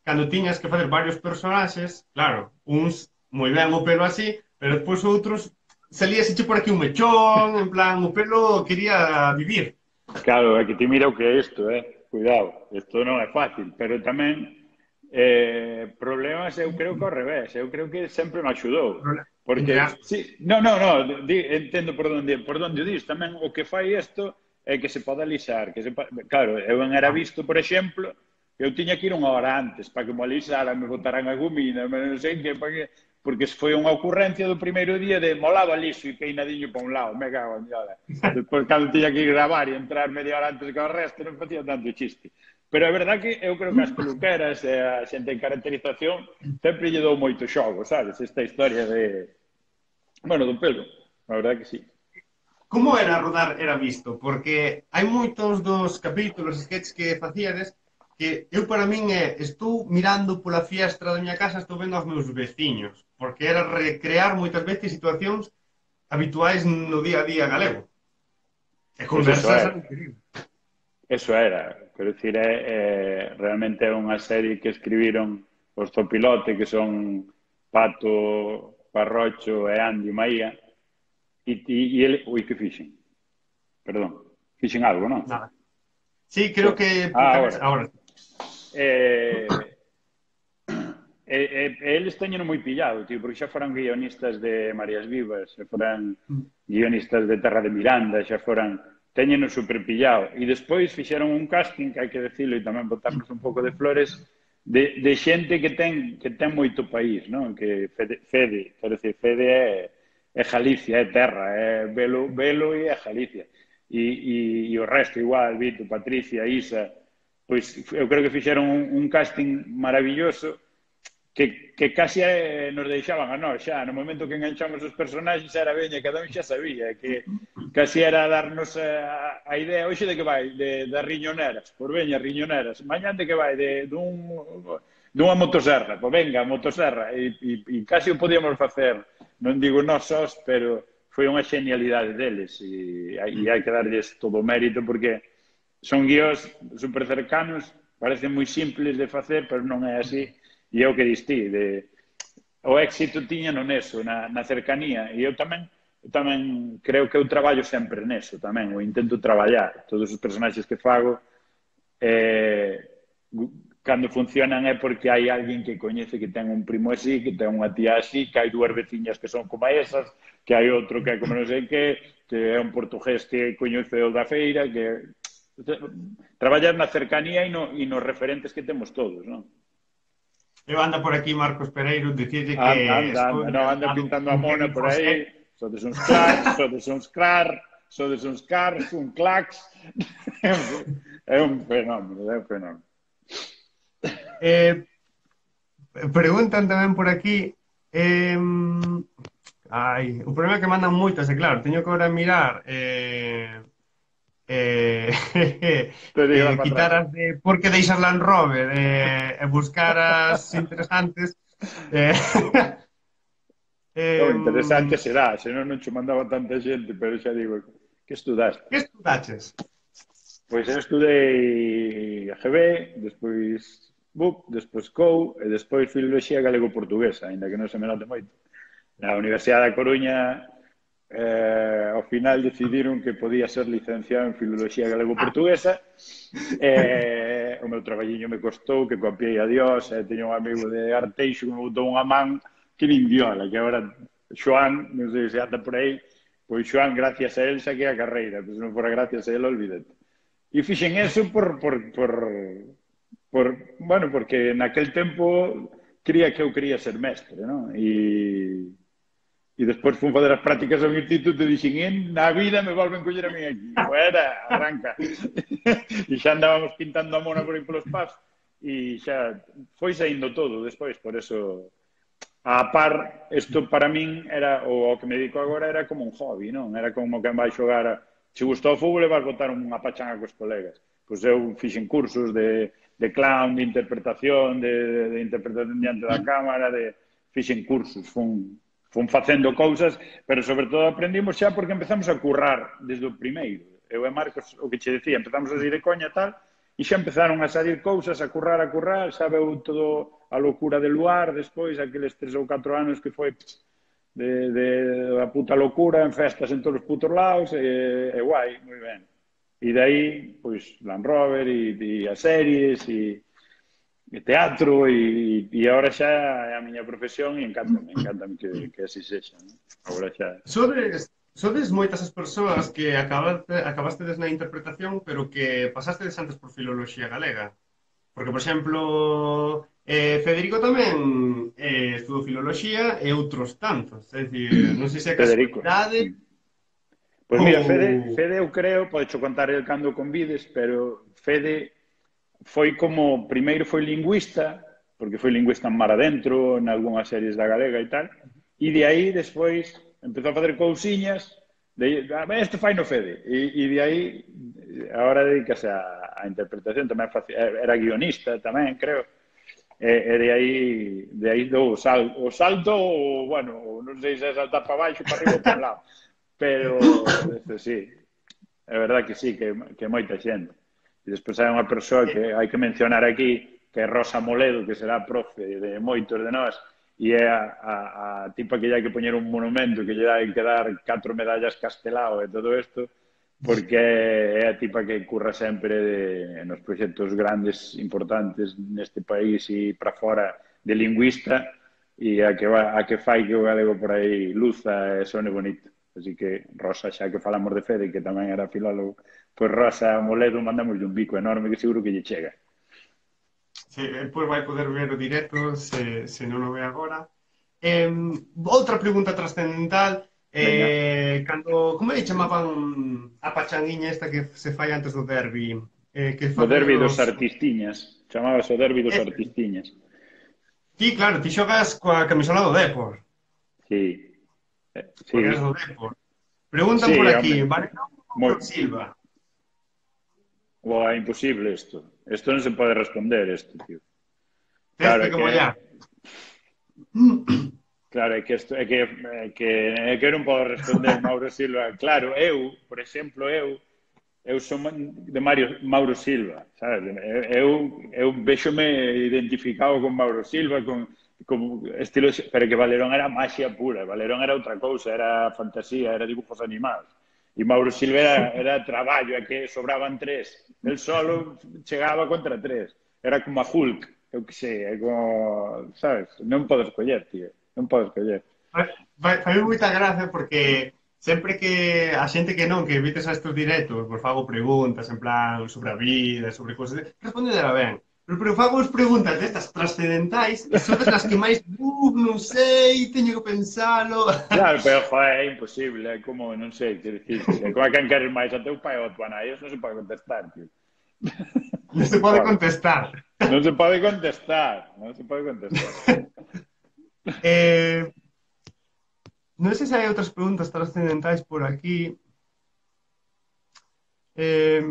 cando tiñas que facer varios personaxes, claro, uns moi ben o pelo así, pero despois outros salíase por aquí un mechón, en plan, o pelo quería vivir. Claro, é que te mira o que é isto, eh? Cuidado, isto non é fácil, pero tamén eh, problemas eu creo que ao revés, eu creo que sempre me axudou. Porque, sí, no, no, no, di, entendo por onde, por onde o dis, tamén o que fai isto é que se poda lixar, que se, claro, eu en era visto, por exemplo, eu tiña que ir unha hora antes para que me alisaran, me botaran a gomina, me non sei que, para que, porque foi unha ocurrencia do primeiro día de molaba liso e peinadiño para un lado, me cago en diada. Despois, cando tiña que ir gravar e entrar media hora antes que o resto, non facía tanto chiste. Pero é verdad que eu creo que as peluqueras e a xente en caracterización sempre lle dou moito xogo, sabes? Esta historia de... Bueno, do pelo, a verdad que sí. Como era rodar Era Visto? Porque hai moitos dos capítulos, sketches que facíades, que eu para min é, estou mirando pola fiestra da miña casa, estou vendo aos meus veciños, porque era recrear moitas veces situacións habituais no día a día galego. E conversas pues increíbles. Eso era, quero dicir, é, é, realmente é unha serie que escribiron os Zopilote, que son Pato, Parrocho e Andy Maía, e, e, e ele... Ui, que fixen? Perdón, fixen algo, non? Nada. Sí, creo que... Ah, ahora. ahora. Eh, e, e, e eles teñen moi pillado, tío, porque xa foran guionistas de Marías Vivas, xa foran guionistas de Terra de Miranda, xa foran... Teñeno super pillado. E despois fixeron un casting, que hai que decirlo, e tamén botarnos un pouco de flores, de, de xente que ten que ten moito país, non? Que Fede, Fede, quero dicir, Fede é, é Galicia, é terra, é Velo, Velo e é Galicia. E, e, e o resto igual, Vito, Patricia, Isa, pois eu creo que fixeron un, un casting maravilloso que, que casi eh, nos deixaban a nós xa, no momento que enganchamos os personaxes era veña, cada un xa sabía que casi era darnos a, a idea hoxe de que vai, de, de riñoneras, por veña, riñoneras, mañán de que vai, de dun, dunha motoserra, pois venga, motoserra, e, e, e casi o podíamos facer, non digo nós sós, pero foi unha genialidade deles, e, e hai que darlles todo o mérito, porque son guiós super cercanos, parecen moi simples de facer, pero non é así. E é o que distí, de, o éxito tiña no neso, na, na cercanía, e eu tamén, eu tamén creo que eu traballo sempre neso tamén, o intento traballar, todos os personaxes que fago, eh, cando funcionan é porque hai alguén que coñece que ten un primo así, que ten unha tía así, que hai dúas veciñas que son como esas, que hai outro que é como non sei que, que é un portugués que coñece o da feira, que traballar na cercanía e, no, e nos referentes que temos todos, non? Eu anda por aquí Marcos Pereiro dicirle que... Anda, anda, anda, no, anda pintando a mona por aí. Sodes uns clars, sodes uns clar, sodes uns cars, un clax. É un fenómeno, é un fenómeno. Eh, preguntan tamén por aquí... Eh, ai, o problema é que mandan moitas, e claro, teño que ahora mirar... Eh, Eh, eh, quitar as de por que deixas Land Rover e eh, buscar as interesantes eh, eh, o interesante será, senón non che mandaba tanta xente, pero xa digo, que estudaste? Que estudaches? Pois eu estudei A G B, despois B U P, despois C O U e despois Filoloxía Galego-Portuguesa, ainda que non se me note moito. Na Universidade da Coruña Eh, ao final decidiron que podía ser licenciado en Filoloxía Galego-Portuguesa. Eh, o meu traballiño me costou, que copiei a Dios, e teño un amigo de Arteixo que me botou unha man que nin viola, que agora Xoán, non sei se anda por aí, pois Xoán, gracias a él, saquei a carreira, pois non fora gracias a él, olvídate. E fixen eso por, por, por, por, bueno, porque naquel tempo cría que eu quería ser mestre, non? E, e despois fun fazer as prácticas ao instituto e dixen, en na vida me volven coller a mí aquí. Fuera, arranca. E xa andábamos pintando a mona por aí polos pubs e xa foi saindo todo despois, por eso a par, isto para min era, o ao que me dedico agora era como un hobby, non? Era como quen vai xogar, a, se gustou o fútbol e vas botar unha pachanga cos colegas. Pois eu fixen cursos de, de clown, de interpretación, de, de, de interpretación diante da cámara, de fixen cursos, fun, fun facendo cousas, pero sobre todo aprendimos xa porque empezamos a currar desde o primeiro. Eu e Marcos, o que che decía, empezamos a sair de coña e tal, e xa empezaron a salir cousas, a currar, a currar, xa veu todo a locura de Luar, despois, aqueles tres ou catro anos que foi de, de, de a puta locura, en festas en todos os putos lados, e, e guai, moi ben. E dai, pois, Land Rover, e, e as series, e, e teatro, e, e agora xa é a miña profesión, e encanta, encanta que, que así sexa. ¿No? Agora xa... Sodes, sodes moitas as persoas que acabaste, acabastedes na interpretación, pero que pasastedes antes por filoloxía galega. Porque, por exemplo, eh, Federico tamén eh, estudou filoloxía e outros tantos. É dicir, non sei se é Federico. casualidade Pois mira, Fede, ou... Fede eu creo, podecho contar el cando convides, pero Fede foi como, primeiro foi lingüista, porque foi lingüista en Mar Adentro, en algunhas series da Galega e tal, e de aí, despois, empezou a facer cousiñas, de, ah, este fai no Fede, e, e de aí, agora dedicase a, a interpretación, tamén faci, era guionista tamén, creo, e, e de aí, de aí do o, sal, o salto, o, bueno, non sei se é saltar para baixo, para arriba ou para un lado, pero, este, sí, é verdad que sí, que, que moita xente. E despois hai unha persoa que hai que mencionar aquí, que é Rosa Moledo, que será profe de moitos de nós, e é a, a, a tipa que lle hai que poñer un monumento, que lle hai que dar catro medallas Castelao e todo isto, porque é a tipa que curra sempre de, nos proxectos grandes, importantes neste país e para fora de lingüista, e a que, va, a que fai que o galego por aí luza e sone bonito. Así que Rosa, xa que falamos de Fede, que tamén era filólogo, pois Rosa Moledo mandamos un bico enorme que seguro que lle chega. Sí, depois vai poder ver o directo se, se non o ve agora. Eh, outra pregunta trascendental. Eh, cando, como lle chamaban a pachanguiña esta que se fai antes do derbi? Eh, que O derbi dos os... artistiñas. Chamábase o derbi dos Eh, artistiñas. Ti, claro, ti xogas coa camisola do Depor. Sí. Sí. Porque eres do Depor. Preguntan sí, por aquí, hombre. vale? Moi... Silva. Boa, imposible isto. Isto non se pode responder, isto, tío. Tens Claro, que que... mollar. Claro, é que, isto, é que, é que, é que eu non podo responder, Mauro Silva. Claro, eu, por exemplo, eu, eu son de Mario, Mauro Silva, sabes? Eu, eu vexome identificado con Mauro Silva, con, con estilo, pero que Valerón era maxia pura, Valerón era outra cousa, era fantasía, era dibujos animados. E Mauro Silva era, era traballo, é que sobraban tres. El solo chegaba contra tres. Era como a Hulk, eu que sei, é como, sabes? Non podo escoller, tío. Non podo escoller. Fai moita gracia porque sempre que a xente que non, que vites a estes directos, pues fago preguntas en plan sobre a vida, sobre cousas, respondedera ben. Pero, pero fago as preguntas destas trascendentais e sodes as que máis, uh, non sei, teño que pensalo. Claro, pero, joder, é imposible, é como, non sei, que dicir, é como a quen queres máis a teu pai ou a tua nai, eso non se pode contestar, tío. Non se pode contestar. Non se pode contestar, non se pode contestar. eh, non sei se hai outras preguntas trascendentais por aquí. Eh,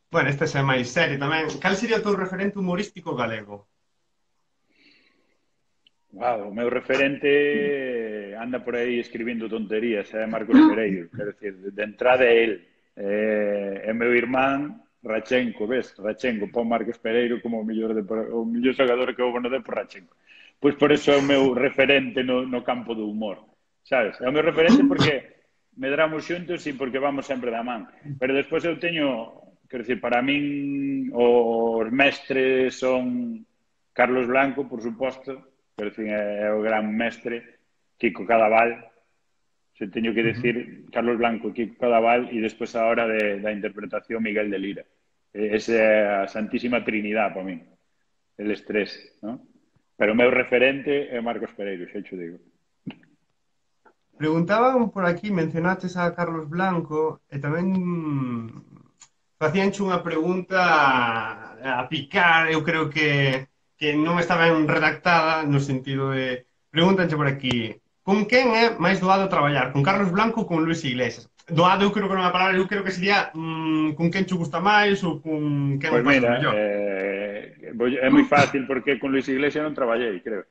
bueno, esta é máis seria tamén. Cal sería o teu referente humorístico galego? Wow, o meu referente anda por aí escribindo tonterías, é Marcos Pereiro, quero dicir, de entrada é el. É, é meu irmán Rachenko, ves? Rachenko, pon Marcos Pereiro como o mellor, de, o mellor xogador que houve no de por Rachenko. Pois por eso é o meu referente no, no campo do humor, sabes? É o meu referente porque medramos xuntos e porque vamos sempre da man. Pero despois eu teño, quero dicir, para min os mestres son Carlos Blanco, por suposto, quero dicir, é o gran mestre, Kiko Cadaval, se teño que decir Carlos Blanco, Kiko Cadaval, e despois a hora de, da interpretación Miguel de Lira. Esa é a Santísima Trinidad para min, el estrés, ¿no? Pero o meu referente é Marcos Pereiro, xa cho digo. Preguntaban por aquí, mencionaches a Carlos Blanco e tamén facíanche unha pregunta a picar, eu creo que, que non está ben redactada no sentido de pregúntanche por aquí con quen é máis doado traballar, con Carlos Blanco ou con Luis Iglesias? Doado eu creo que non é a palabra, eu creo que sería mmm, con quen che gusta máis ou con quen Pois o pasas mira, mellor. eh, é moi fácil porque con Luis Iglesias non traballei, creo.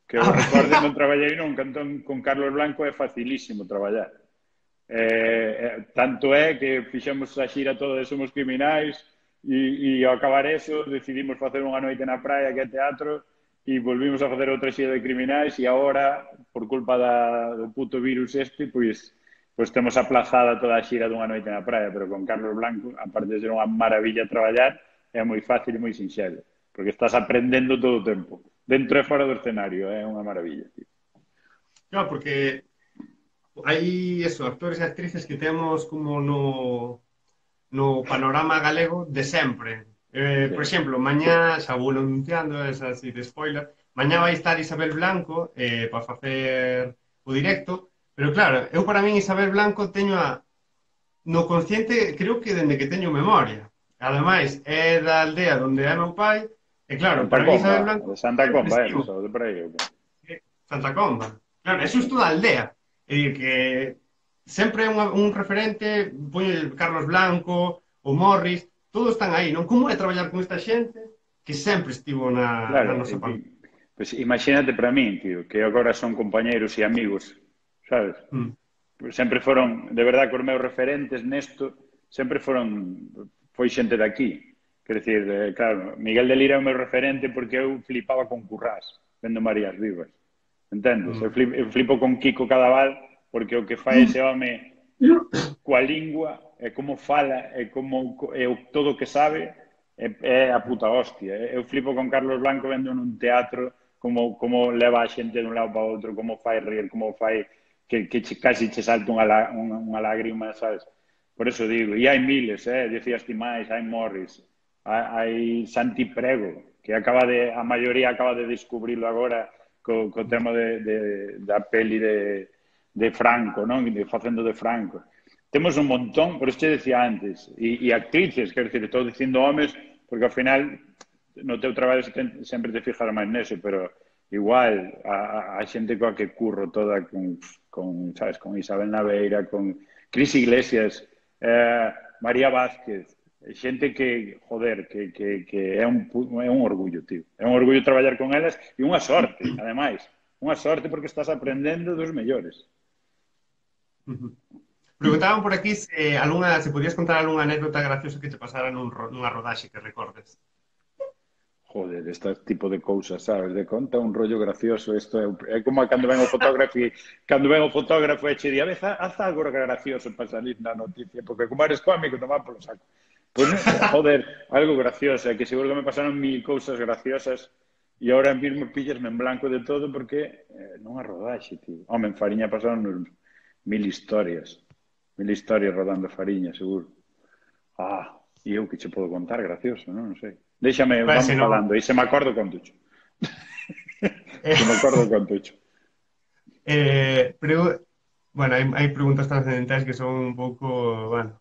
Que eu Ah, recorde non traballei nunca, entón con Carlos Blanco é facilísimo traballar. Eh, tanto é que fixemos a xira todos Somos Criminais e, e ao acabar eso decidimos facer unha noite na praia que é teatro e volvimos a facer outra xira de Criminais e agora, por culpa da, do puto virus este, pois, pois temos aplazada toda a xira dunha noite na praia, pero con Carlos Blanco, aparte de ser unha maravilla traballar, é moi fácil e moi sinxelo, porque estás aprendendo todo o tempo, dentro e fora do escenario, é unha maravilla, tío. claro, porque hai eso, actores e actrices que temos como no no panorama galego de sempre. Eh, Sí. por exemplo, mañá, xa vou anunciando, esa así de spoiler, mañá vai estar Isabel Blanco eh, para facer o directo, pero claro, eu para min Isabel Blanco teño a, no consciente, creo que dende que teño memoria. Ademais, é da aldea onde é meu pai, e claro, Santa para min Comba, Isabel Blanco de Santa sempre Comba estivo eres, ou de por aí, ou que? eh, Santa Comba. Claro, é xusto da aldea. É dicir, que sempre é unha, un referente, poño Carlos Blanco, o Morris, todos están aí, non? Como é traballar con esta xente que sempre estivo na, na Claro, nosa e- pantalla? e- pues imagínate para min, tío, que agora son compañeiros e amigos, sabes? Mm. Pues sempre foron, de verdad, que os meus referentes nesto, sempre foron, foi xente de aquí. Quer decir, eh, claro, Miguel de Lira é o meu referente porque eu flipaba con Currás, vendo Marías Vivas. Entendes? Eu Mm. flipo, eu flipo con Kiko Cadaval porque o que fai ese home coa lingua, e como fala, e como e o, todo o que sabe, é, é a puta hostia. Eu flipo con Carlos Blanco vendo nun teatro como, como leva a xente de un lado para outro, como fai rir, como fai que, que che, casi che salta unha, unha, unha lágrima, sabes? Por eso digo, e hai miles, eh? Decías ti máis, hai Morris, hai, hai Santi Prego, que acaba de, a maioría acaba de descubrilo agora co, co tema de, de, da peli de, de Franco, non? De facendo de Franco. Temos un montón, por isto decía antes, e, e actrices, quero dicir, estou dicindo homes, porque ao final no teu traballo sempre te fijas máis neso, pero igual a, a xente coa que curro toda con, con, sabes, con Isabel Naveira, con Cris Iglesias, eh, María Vázquez, xente que, joder, que, que, que é, un, é un orgullo, tío. É un orgullo traballar con elas e unha sorte, ademais. Unha sorte porque estás aprendendo dos mellores. Uh-huh. Preguntaban por aquí se, alguna, se podías contar algunha anécdota graciosa que te pasara nun, nunha rodaxe que recordes. Joder, este tipo de cousas, sabes? De conta un rollo gracioso, isto é, é como cando ven o fotógrafo e cando ven o fotógrafo e che di, a vez, haz algo gracioso para salir na noticia, porque como eres cómico, non van polo saco. Pois, pues, joder, algo gracioso, é que seguro que me pasaron mil cousas graciosas e agora mismo pillasme en blanco de todo porque eh, non a rodaxe, tío. Home, en Fariña pasaron mil historias, mil historias rodando Fariña, seguro. Ah, e eu que che podo contar gracioso, non? Non sei. Déxame, Pues, vamos se non, falando, e se me acordo contucho. eh, Se me acordo contucho. eh, pero, bueno, hai, hai preguntas trascendentais que son un pouco, bueno,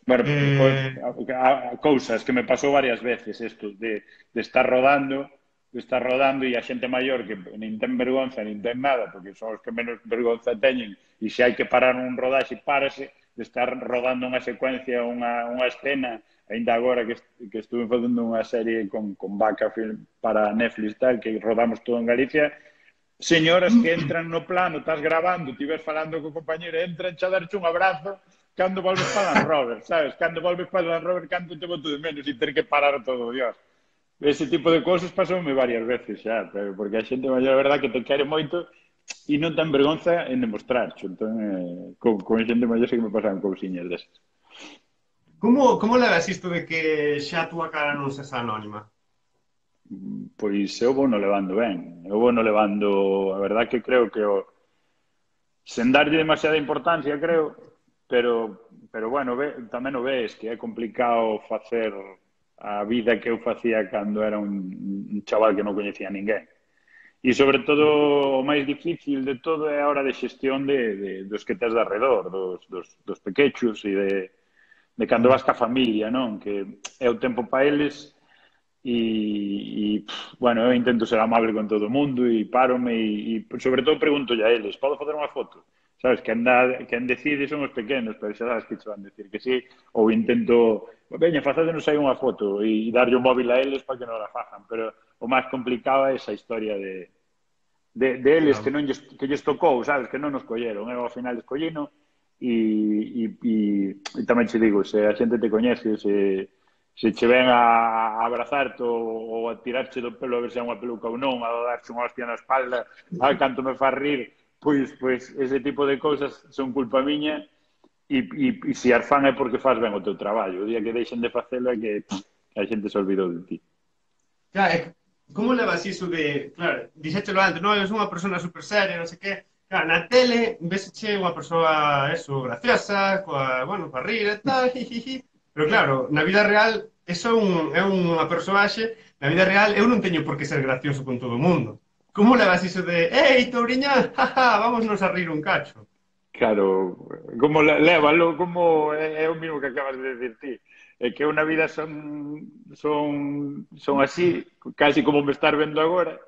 Bueno, pues, eh, a, a, cousas que me pasou varias veces isto, de, de estar rodando, de estar rodando e a xente maior que nin ten vergonza, nin ten nada, porque son os que menos vergonza teñen, e se hai que parar un rodaxe, párase, de estar rodando unha secuencia, unha, unha escena, ainda agora que, que estuve facendo unha serie con, con Vaca Film para Netflix tal, que rodamos todo en Galicia, señoras que entran no plano, estás grabando, ti ves falando co compañero, entran xa darche un abrazo, cando volves para Land Rover, sabes? Cando volves para Land Rover, canto te boto de menos e ter que parar todo, Dios. Ese tipo de cousas pasoume varias veces xa, pero porque a xente maior, a verdad, que te quere moito e non ten vergonza en demostrarcho. Entón, eh, con, con xente maior sí que me pasan cousiñas desas. como, como levas isto de que xa a túa cara non sexa anónima? Pois eu vou no levando ben. Eu vou no levando... A verdad que creo que o... sen darlle demasiada importancia, creo, pero, pero bueno, ve, tamén o ves que é complicado facer a vida que eu facía cando era un, un chaval que non coñecía a ninguén. E, sobre todo, o máis difícil de todo é a hora de xestión de, de, dos que tes de arredor, dos, dos, dos pequechos e de, de cando vas ca familia, non? Que é o tempo para eles e, e bueno, eu intento ser amable con todo o mundo e párome e, e sobre todo pregunto a eles, podo facer unha foto? Sabes, quen, da, quen decide son os pequenos, pero xa sabes que che van decir que sí, ou intento, veña, facedenos aí unha foto e darlle o móvil a eles para que non la fajan, pero o máis complicado é esa historia de, de, de eles que Claro. non lles, que lles tocou, sabes, que non nos colleron, eu ao final escollino e, e, e, e tamén che digo, se a xente te coñece, se se che ven a abrazarte ou, ou a tirarche do pelo a ver se é unha peluca ou non, a darche unha hostia na espalda, a canto me faz rir, pois, pois ese tipo de cousas son culpa miña e, e, e se as fan é porque faz ben o teu traballo. O día que deixen de facelo é que pff, a xente se olvidou de ti. Claro, é que, como levas iso de, claro, dixéchelo antes, non, é unha persona super seria, non sei que, claro, na tele véseche unha persoa, eso, graciosa, coa, bueno, para rir e tal, jijiji, pero claro, na vida real, eso é, un, é unha persoaxe, na vida real eu non teño por que ser gracioso con todo o mundo. Como levas iso de, ei, Touriñán, jaja, vámonos a rir un cacho? Claro, como le- lévalo, como é, é o mismo que acabas de decir ti. É que unha vida son, son, son así, casi como me estás vendo agora,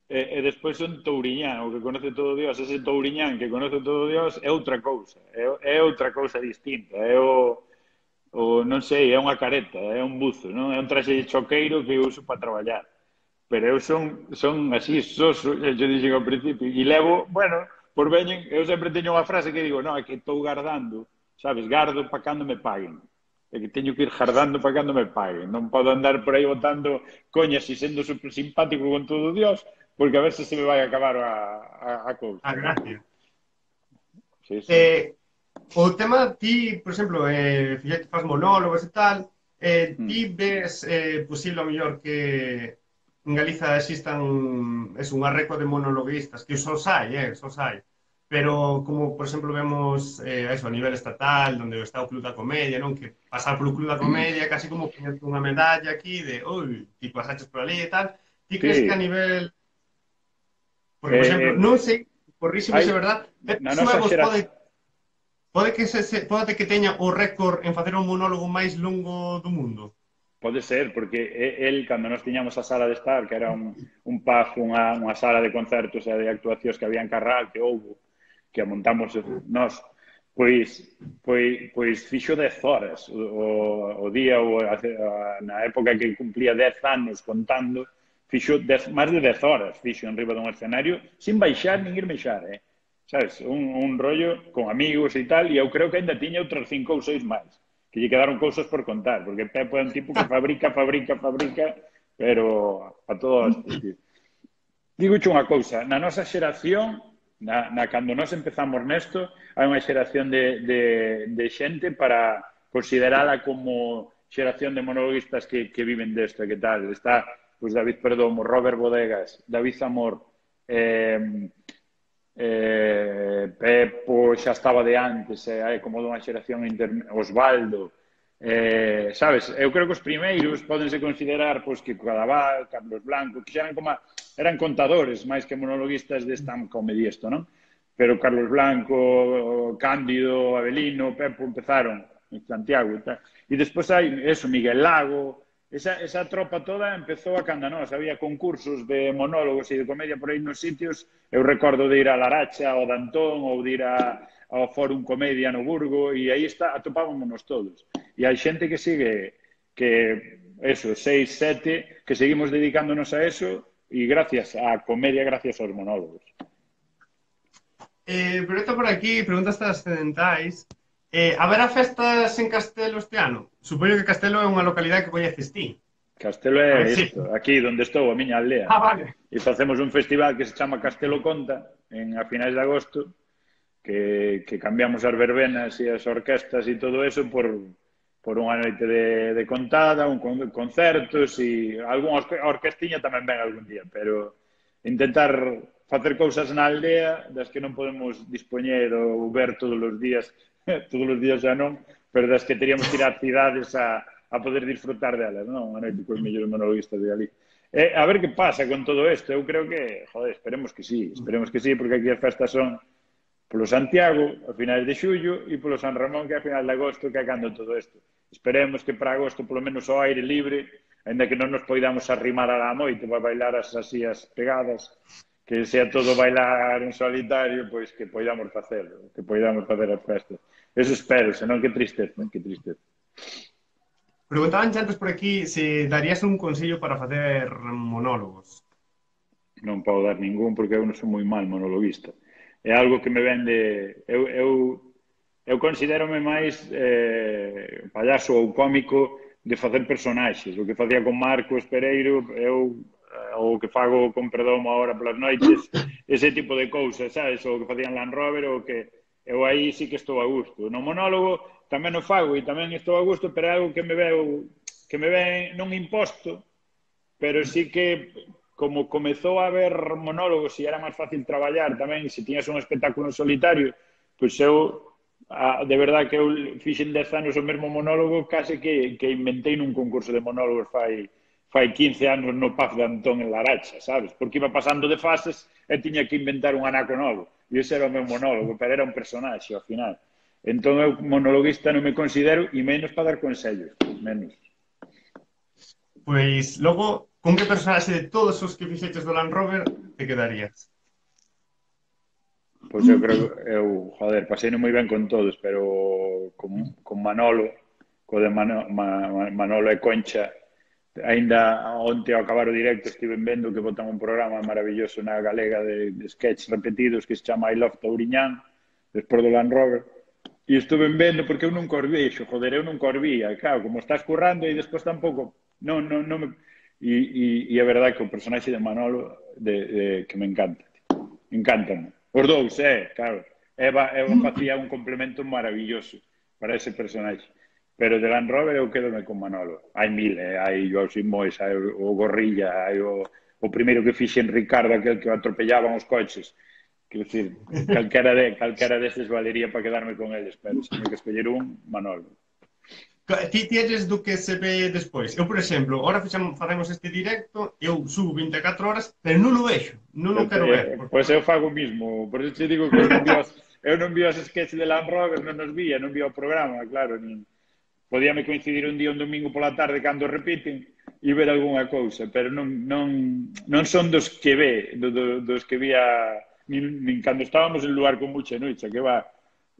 e, e despois son Touriñán, o que conoce todo Dios, ese Touriñán que conoce todo Dios é outra cousa, é, é outra cousa distinta, é o, o, non sei, é unha careta, é un buzo, non? É un traxe de choqueiro que eu uso para traballar. Pero eu son, son así, soso, eu dixen ao principio, e levo, bueno, por veñen, eu sempre teño unha frase que digo, non, é que estou gardando, sabes, gardo para cando me paguen. É que teño que ir gardando para cando me paguen. Non podo andar por aí botando coñas e sendo super simpático con todo Dios, porque a ver se se me vai a acabar a, a, a cousa, A non? gracia. Sí, sí. Eh, o tema, ti, por exemplo, eh, fíjate, faz monólogos e tal, eh, ti Mm. ves eh, posible ao mellor que en Galiza existan es un arreco de monologuistas, que os hai, eh, os hai, pero como, por exemplo, vemos eh, eso, a nivel estatal, onde está o Club da Comedia, non? Que pasar polo Club da Comedia casi como poñerte unha medalla aquí de, ui, ti pasaches por ali e tal, ti crees que a Sí. nivel, porque, por exemplo, Eh, non sei, corríxeme se hai, é verdad, na Pepos nosa Nuevos pode xeración, Pode que, se, se, pode que teña o récord en facer o monólogo máis longo do mundo. pode ser, porque el, cando nós tiñamos a sala de estar, que era un, un pub, unha, unha sala de concertos e de actuacións que había en Carral, que houve, que a montamos nós, pois, pois, pois fixo dez horas o, o día, o, a, a, na época que cumplía dez anos contando, fixo dez, máis de dez horas fixo en riba dun escenario, sin baixar nin ir mexar, eh? Sabes? Un, un rollo con amigos e tal, e eu creo que ainda tiña outros cinco ou seis máis que lle quedaron cousas por contar, porque Pepo é un tipo que fabrica, fabrica, fabrica, pero a todo hoste, tío. Digo unha cousa, na nosa xeración, na, na cando nós empezamos nesto, hai unha xeración de, de, de xente para considerala como xeración de monologuistas que, que viven desto, que tal. Está, pois, David Perdomo, Robert Bodegas, David Zamor, eh, eh, Pepo xa estaba de antes, eh, hai como dunha xeración interna, Osvaldo, eh, sabes, eu creo que os primeiros podense considerar pois, que Cadaval, Carlos Blanco, que xa eran como eran contadores máis que monologuistas de stand comedy isto, non? Pero Carlos Blanco, Cándido, Avelino, Pepo empezaron en Santiago e tal. E despois hai eso, Miguel Lago, esa, esa tropa toda empezou a canda nós, había concursos de monólogos e de comedia por aí nos sitios, eu recordo de ir a Laracha, ao Dantón, ou de ir a, ao Fórum Comedia no Burgo, e aí está, atopámonos todos. E hai xente que sigue, que, eso, seis, sete, que seguimos dedicándonos a eso, e gracias á comedia, gracias aos monólogos. Eh, pero está por aquí, preguntas trascendentais. Eh, haberá festas en Castelo este ano? Supoño que Castelo é unha localidade que coñeces ti. Castelo A é ver, sí. isto, aquí onde estou, a miña aldea. Ah, vale. E facemos un festival que se chama Castelo Conta, en a finais de agosto, que, que cambiamos as verbenas e as orquestas e todo eso por, por unha noite de, de contada, un con, concertos e algunha orquestiña tamén ven algún día, pero intentar facer cousas na aldea das que non podemos dispoñer ou ver todos os días, todos os días xa non, pero das que teríamos que ir ás cidades a, a poder disfrutar delas, non? Unha noite cos mellores monologuistas de ali. Eh, a ver que pasa con todo isto. Eu creo que, joder, esperemos que sí, esperemos que sí, porque aquí as festas son polo Santiago, a finais de xullo, e polo San Ramón, que é a final de agosto, que é cando todo isto. Esperemos que para agosto, polo menos ao aire libre, ainda que non nos poidamos arrimar a la moito para bailar as así as pegadas, que sea todo bailar en solitario, pois que poidamos facelo, que poidamos facer as festas. Eso espero, senón que tristeza, que tristeza. Preguntaban antes por aquí se darías un consello para facer monólogos. Non podo dar ningún porque eu non sou moi mal monologuista. É algo que me vende... Eu, eu, eu considérome máis eh, payaso ou cómico de facer personaxes. O que facía con Marco Espereiro, eu o que fago con Perdomo ahora polas noites, ese tipo de cousas, sabes? O que facían Land Rover, o que eu aí sí que estou a gusto. No monólogo tamén o fago e tamén estou a gusto, pero é algo que me veo que me ven non imposto, pero sí que como comezou a haber monólogos e era máis fácil traballar tamén, se tiñas un espectáculo solitario, pois eu, a, de verdad que eu fixen dez anos o mesmo monólogo case que, que inventei nun concurso de monólogos fai, fai quince anos no Paz de Antón en Laracha, sabes? Porque iba pasando de fases e tiña que inventar un anaco novo. E ese era o meu monólogo, pero era un personaxe ao final. Entón eu monologuista non me considero e menos para dar consellos, menos. Pois logo, con que personaxe de todos os que fixeches do Land Rover te quedarías? Pois eu creo que eu, joder, paseino moi ben con todos, pero con, con Manolo, co de Mano, Ma, Manolo e Concha, ainda onte ao acabar o directo estiven vendo que botan un programa maravilloso na galega de, de sketches repetidos que se chama I Love Touriñán, despois do Land Rover, e estuve vendo porque eu non corvixo, joder, eu non corvía, claro, como estás currando e despois tampouco, non, non, non me... E, e, e é verdade que o personaxe de Manolo de, de, que me encanta, encántame. Os dous, é, eh, claro. Eva, Eva facía un complemento maravilloso para ese personaxe. Pero de Land Rover eu quedome con Manolo. Hai mil, eh? Hai Joao Simoes, hai o Gorrilla, hai o, o primeiro que fixe en Ricardo, aquel que atropellaban os coches. Quero dicir, calquera, de, calquera destes valería para quedarme con eles, pero se teño que escoller un, Manolo. Ti tienes do que se ve despois. Eu, por exemplo, ahora fixamos, facemos este directo, eu subo vinte e catro horas, pero non o vexo, non o quero ver. Pois pues eu fago o mismo, por eso te digo que eu non vi os, eu non vi os sketches de Land Rover, non nos vía, non vía o programa, claro, nin... Podíame coincidir un día un domingo pola tarde cando repiten e ver algunha cousa, pero non, non, non son dos que ve, do, do, dos que vía nin, nin cando estábamos en lugar con mucha noite, que va,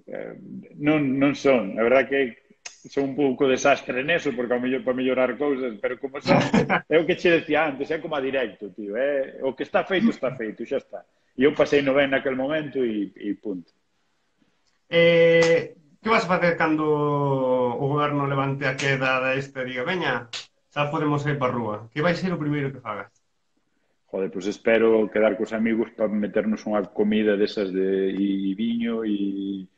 eh, non, non son, a verdad que son un pouco desastre neso, porque ao mellor para mellorar cousas, pero como son, é o que che decía antes, é como a directo, tío, é, o que está feito, está feito, xa está. E eu pasei no ben naquel momento e, e punto. Eh... Que vas a facer cando o goberno levante a queda da este e diga veña, xa podemos ir para a rúa? Que vai ser o primeiro que fagas? Joder, pois pues espero quedar cos amigos para meternos unha comida desas de e viño e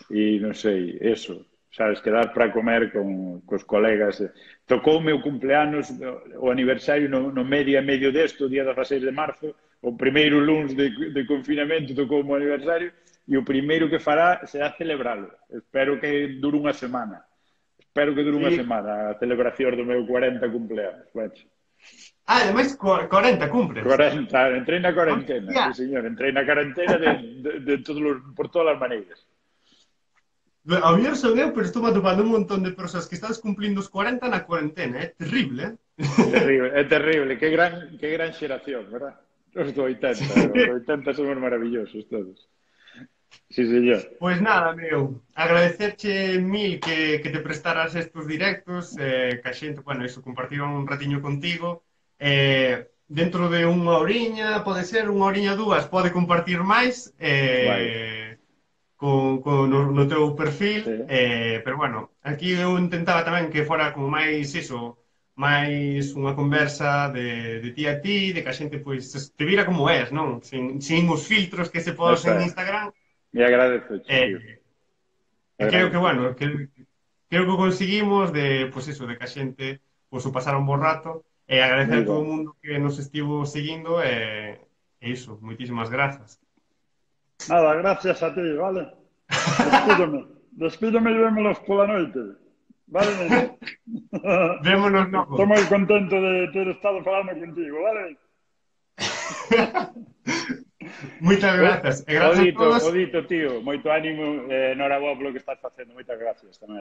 e non sei, eso, sabes, quedar para comer con cos colegas. Tocou o meu cumpleanos, o aniversario no, no medio e medio desto, o día dezaseis de marzo, o primeiro luns de, de confinamento tocou o meu aniversario, e o primeiro que fará será celebralo. Espero que dure unha semana. Espero que dure sí. unha semana a celebración do meu cuarenta cumpleanos. Bueno. Ah, ademais cuarenta cumples. cuarenta, entrei na cuarentena, ah, sí, señor. Entrei na cuarentena de, de, de todos los, por todas as maneiras. A mellor son eu, pero estou atopando un montón de persoas que estás cumplindo os cuarenta na cuarentena. É terrible, eh? Terrible, é terrible. Que gran, que gran xeración, verdad? Os do oitenta. Os oitenta somos maravillosos todos. Sí, señor. Pois nada, meu, agradecerche mil que, que te prestaras estes directos, eh, que a xente, bueno, iso, compartiron un ratiño contigo, eh, dentro de unha horiña, pode ser, unha horiña dúas, pode compartir máis, eh, con, con, no, no teu perfil, sí. eh, pero bueno, aquí eu intentaba tamén que fora como máis iso, máis unha conversa de, de ti a ti, de que a xente, pois, te vira como és, non? Sin, sin os filtros que se posen en Instagram. Me agradezo, tío. Eh, e creo que, bueno, que, creo que conseguimos de, pues eso, de que a xente pues, o pasara un bo rato e agradecer a todo o mundo que nos estivo seguindo e, e iso, moitísimas grazas. Nada, gracias a ti, vale? Despídome. Despídome e vémonos pola noite. Vale, nene? Vémonos Estou logo. moi contento de ter estado falando contigo, vale? Moitas O, grazas. E o grazas a dito, todos. o dito, tío, moito ánimo, eh, enhoraboa polo que estás facendo, moitas gracias tamén.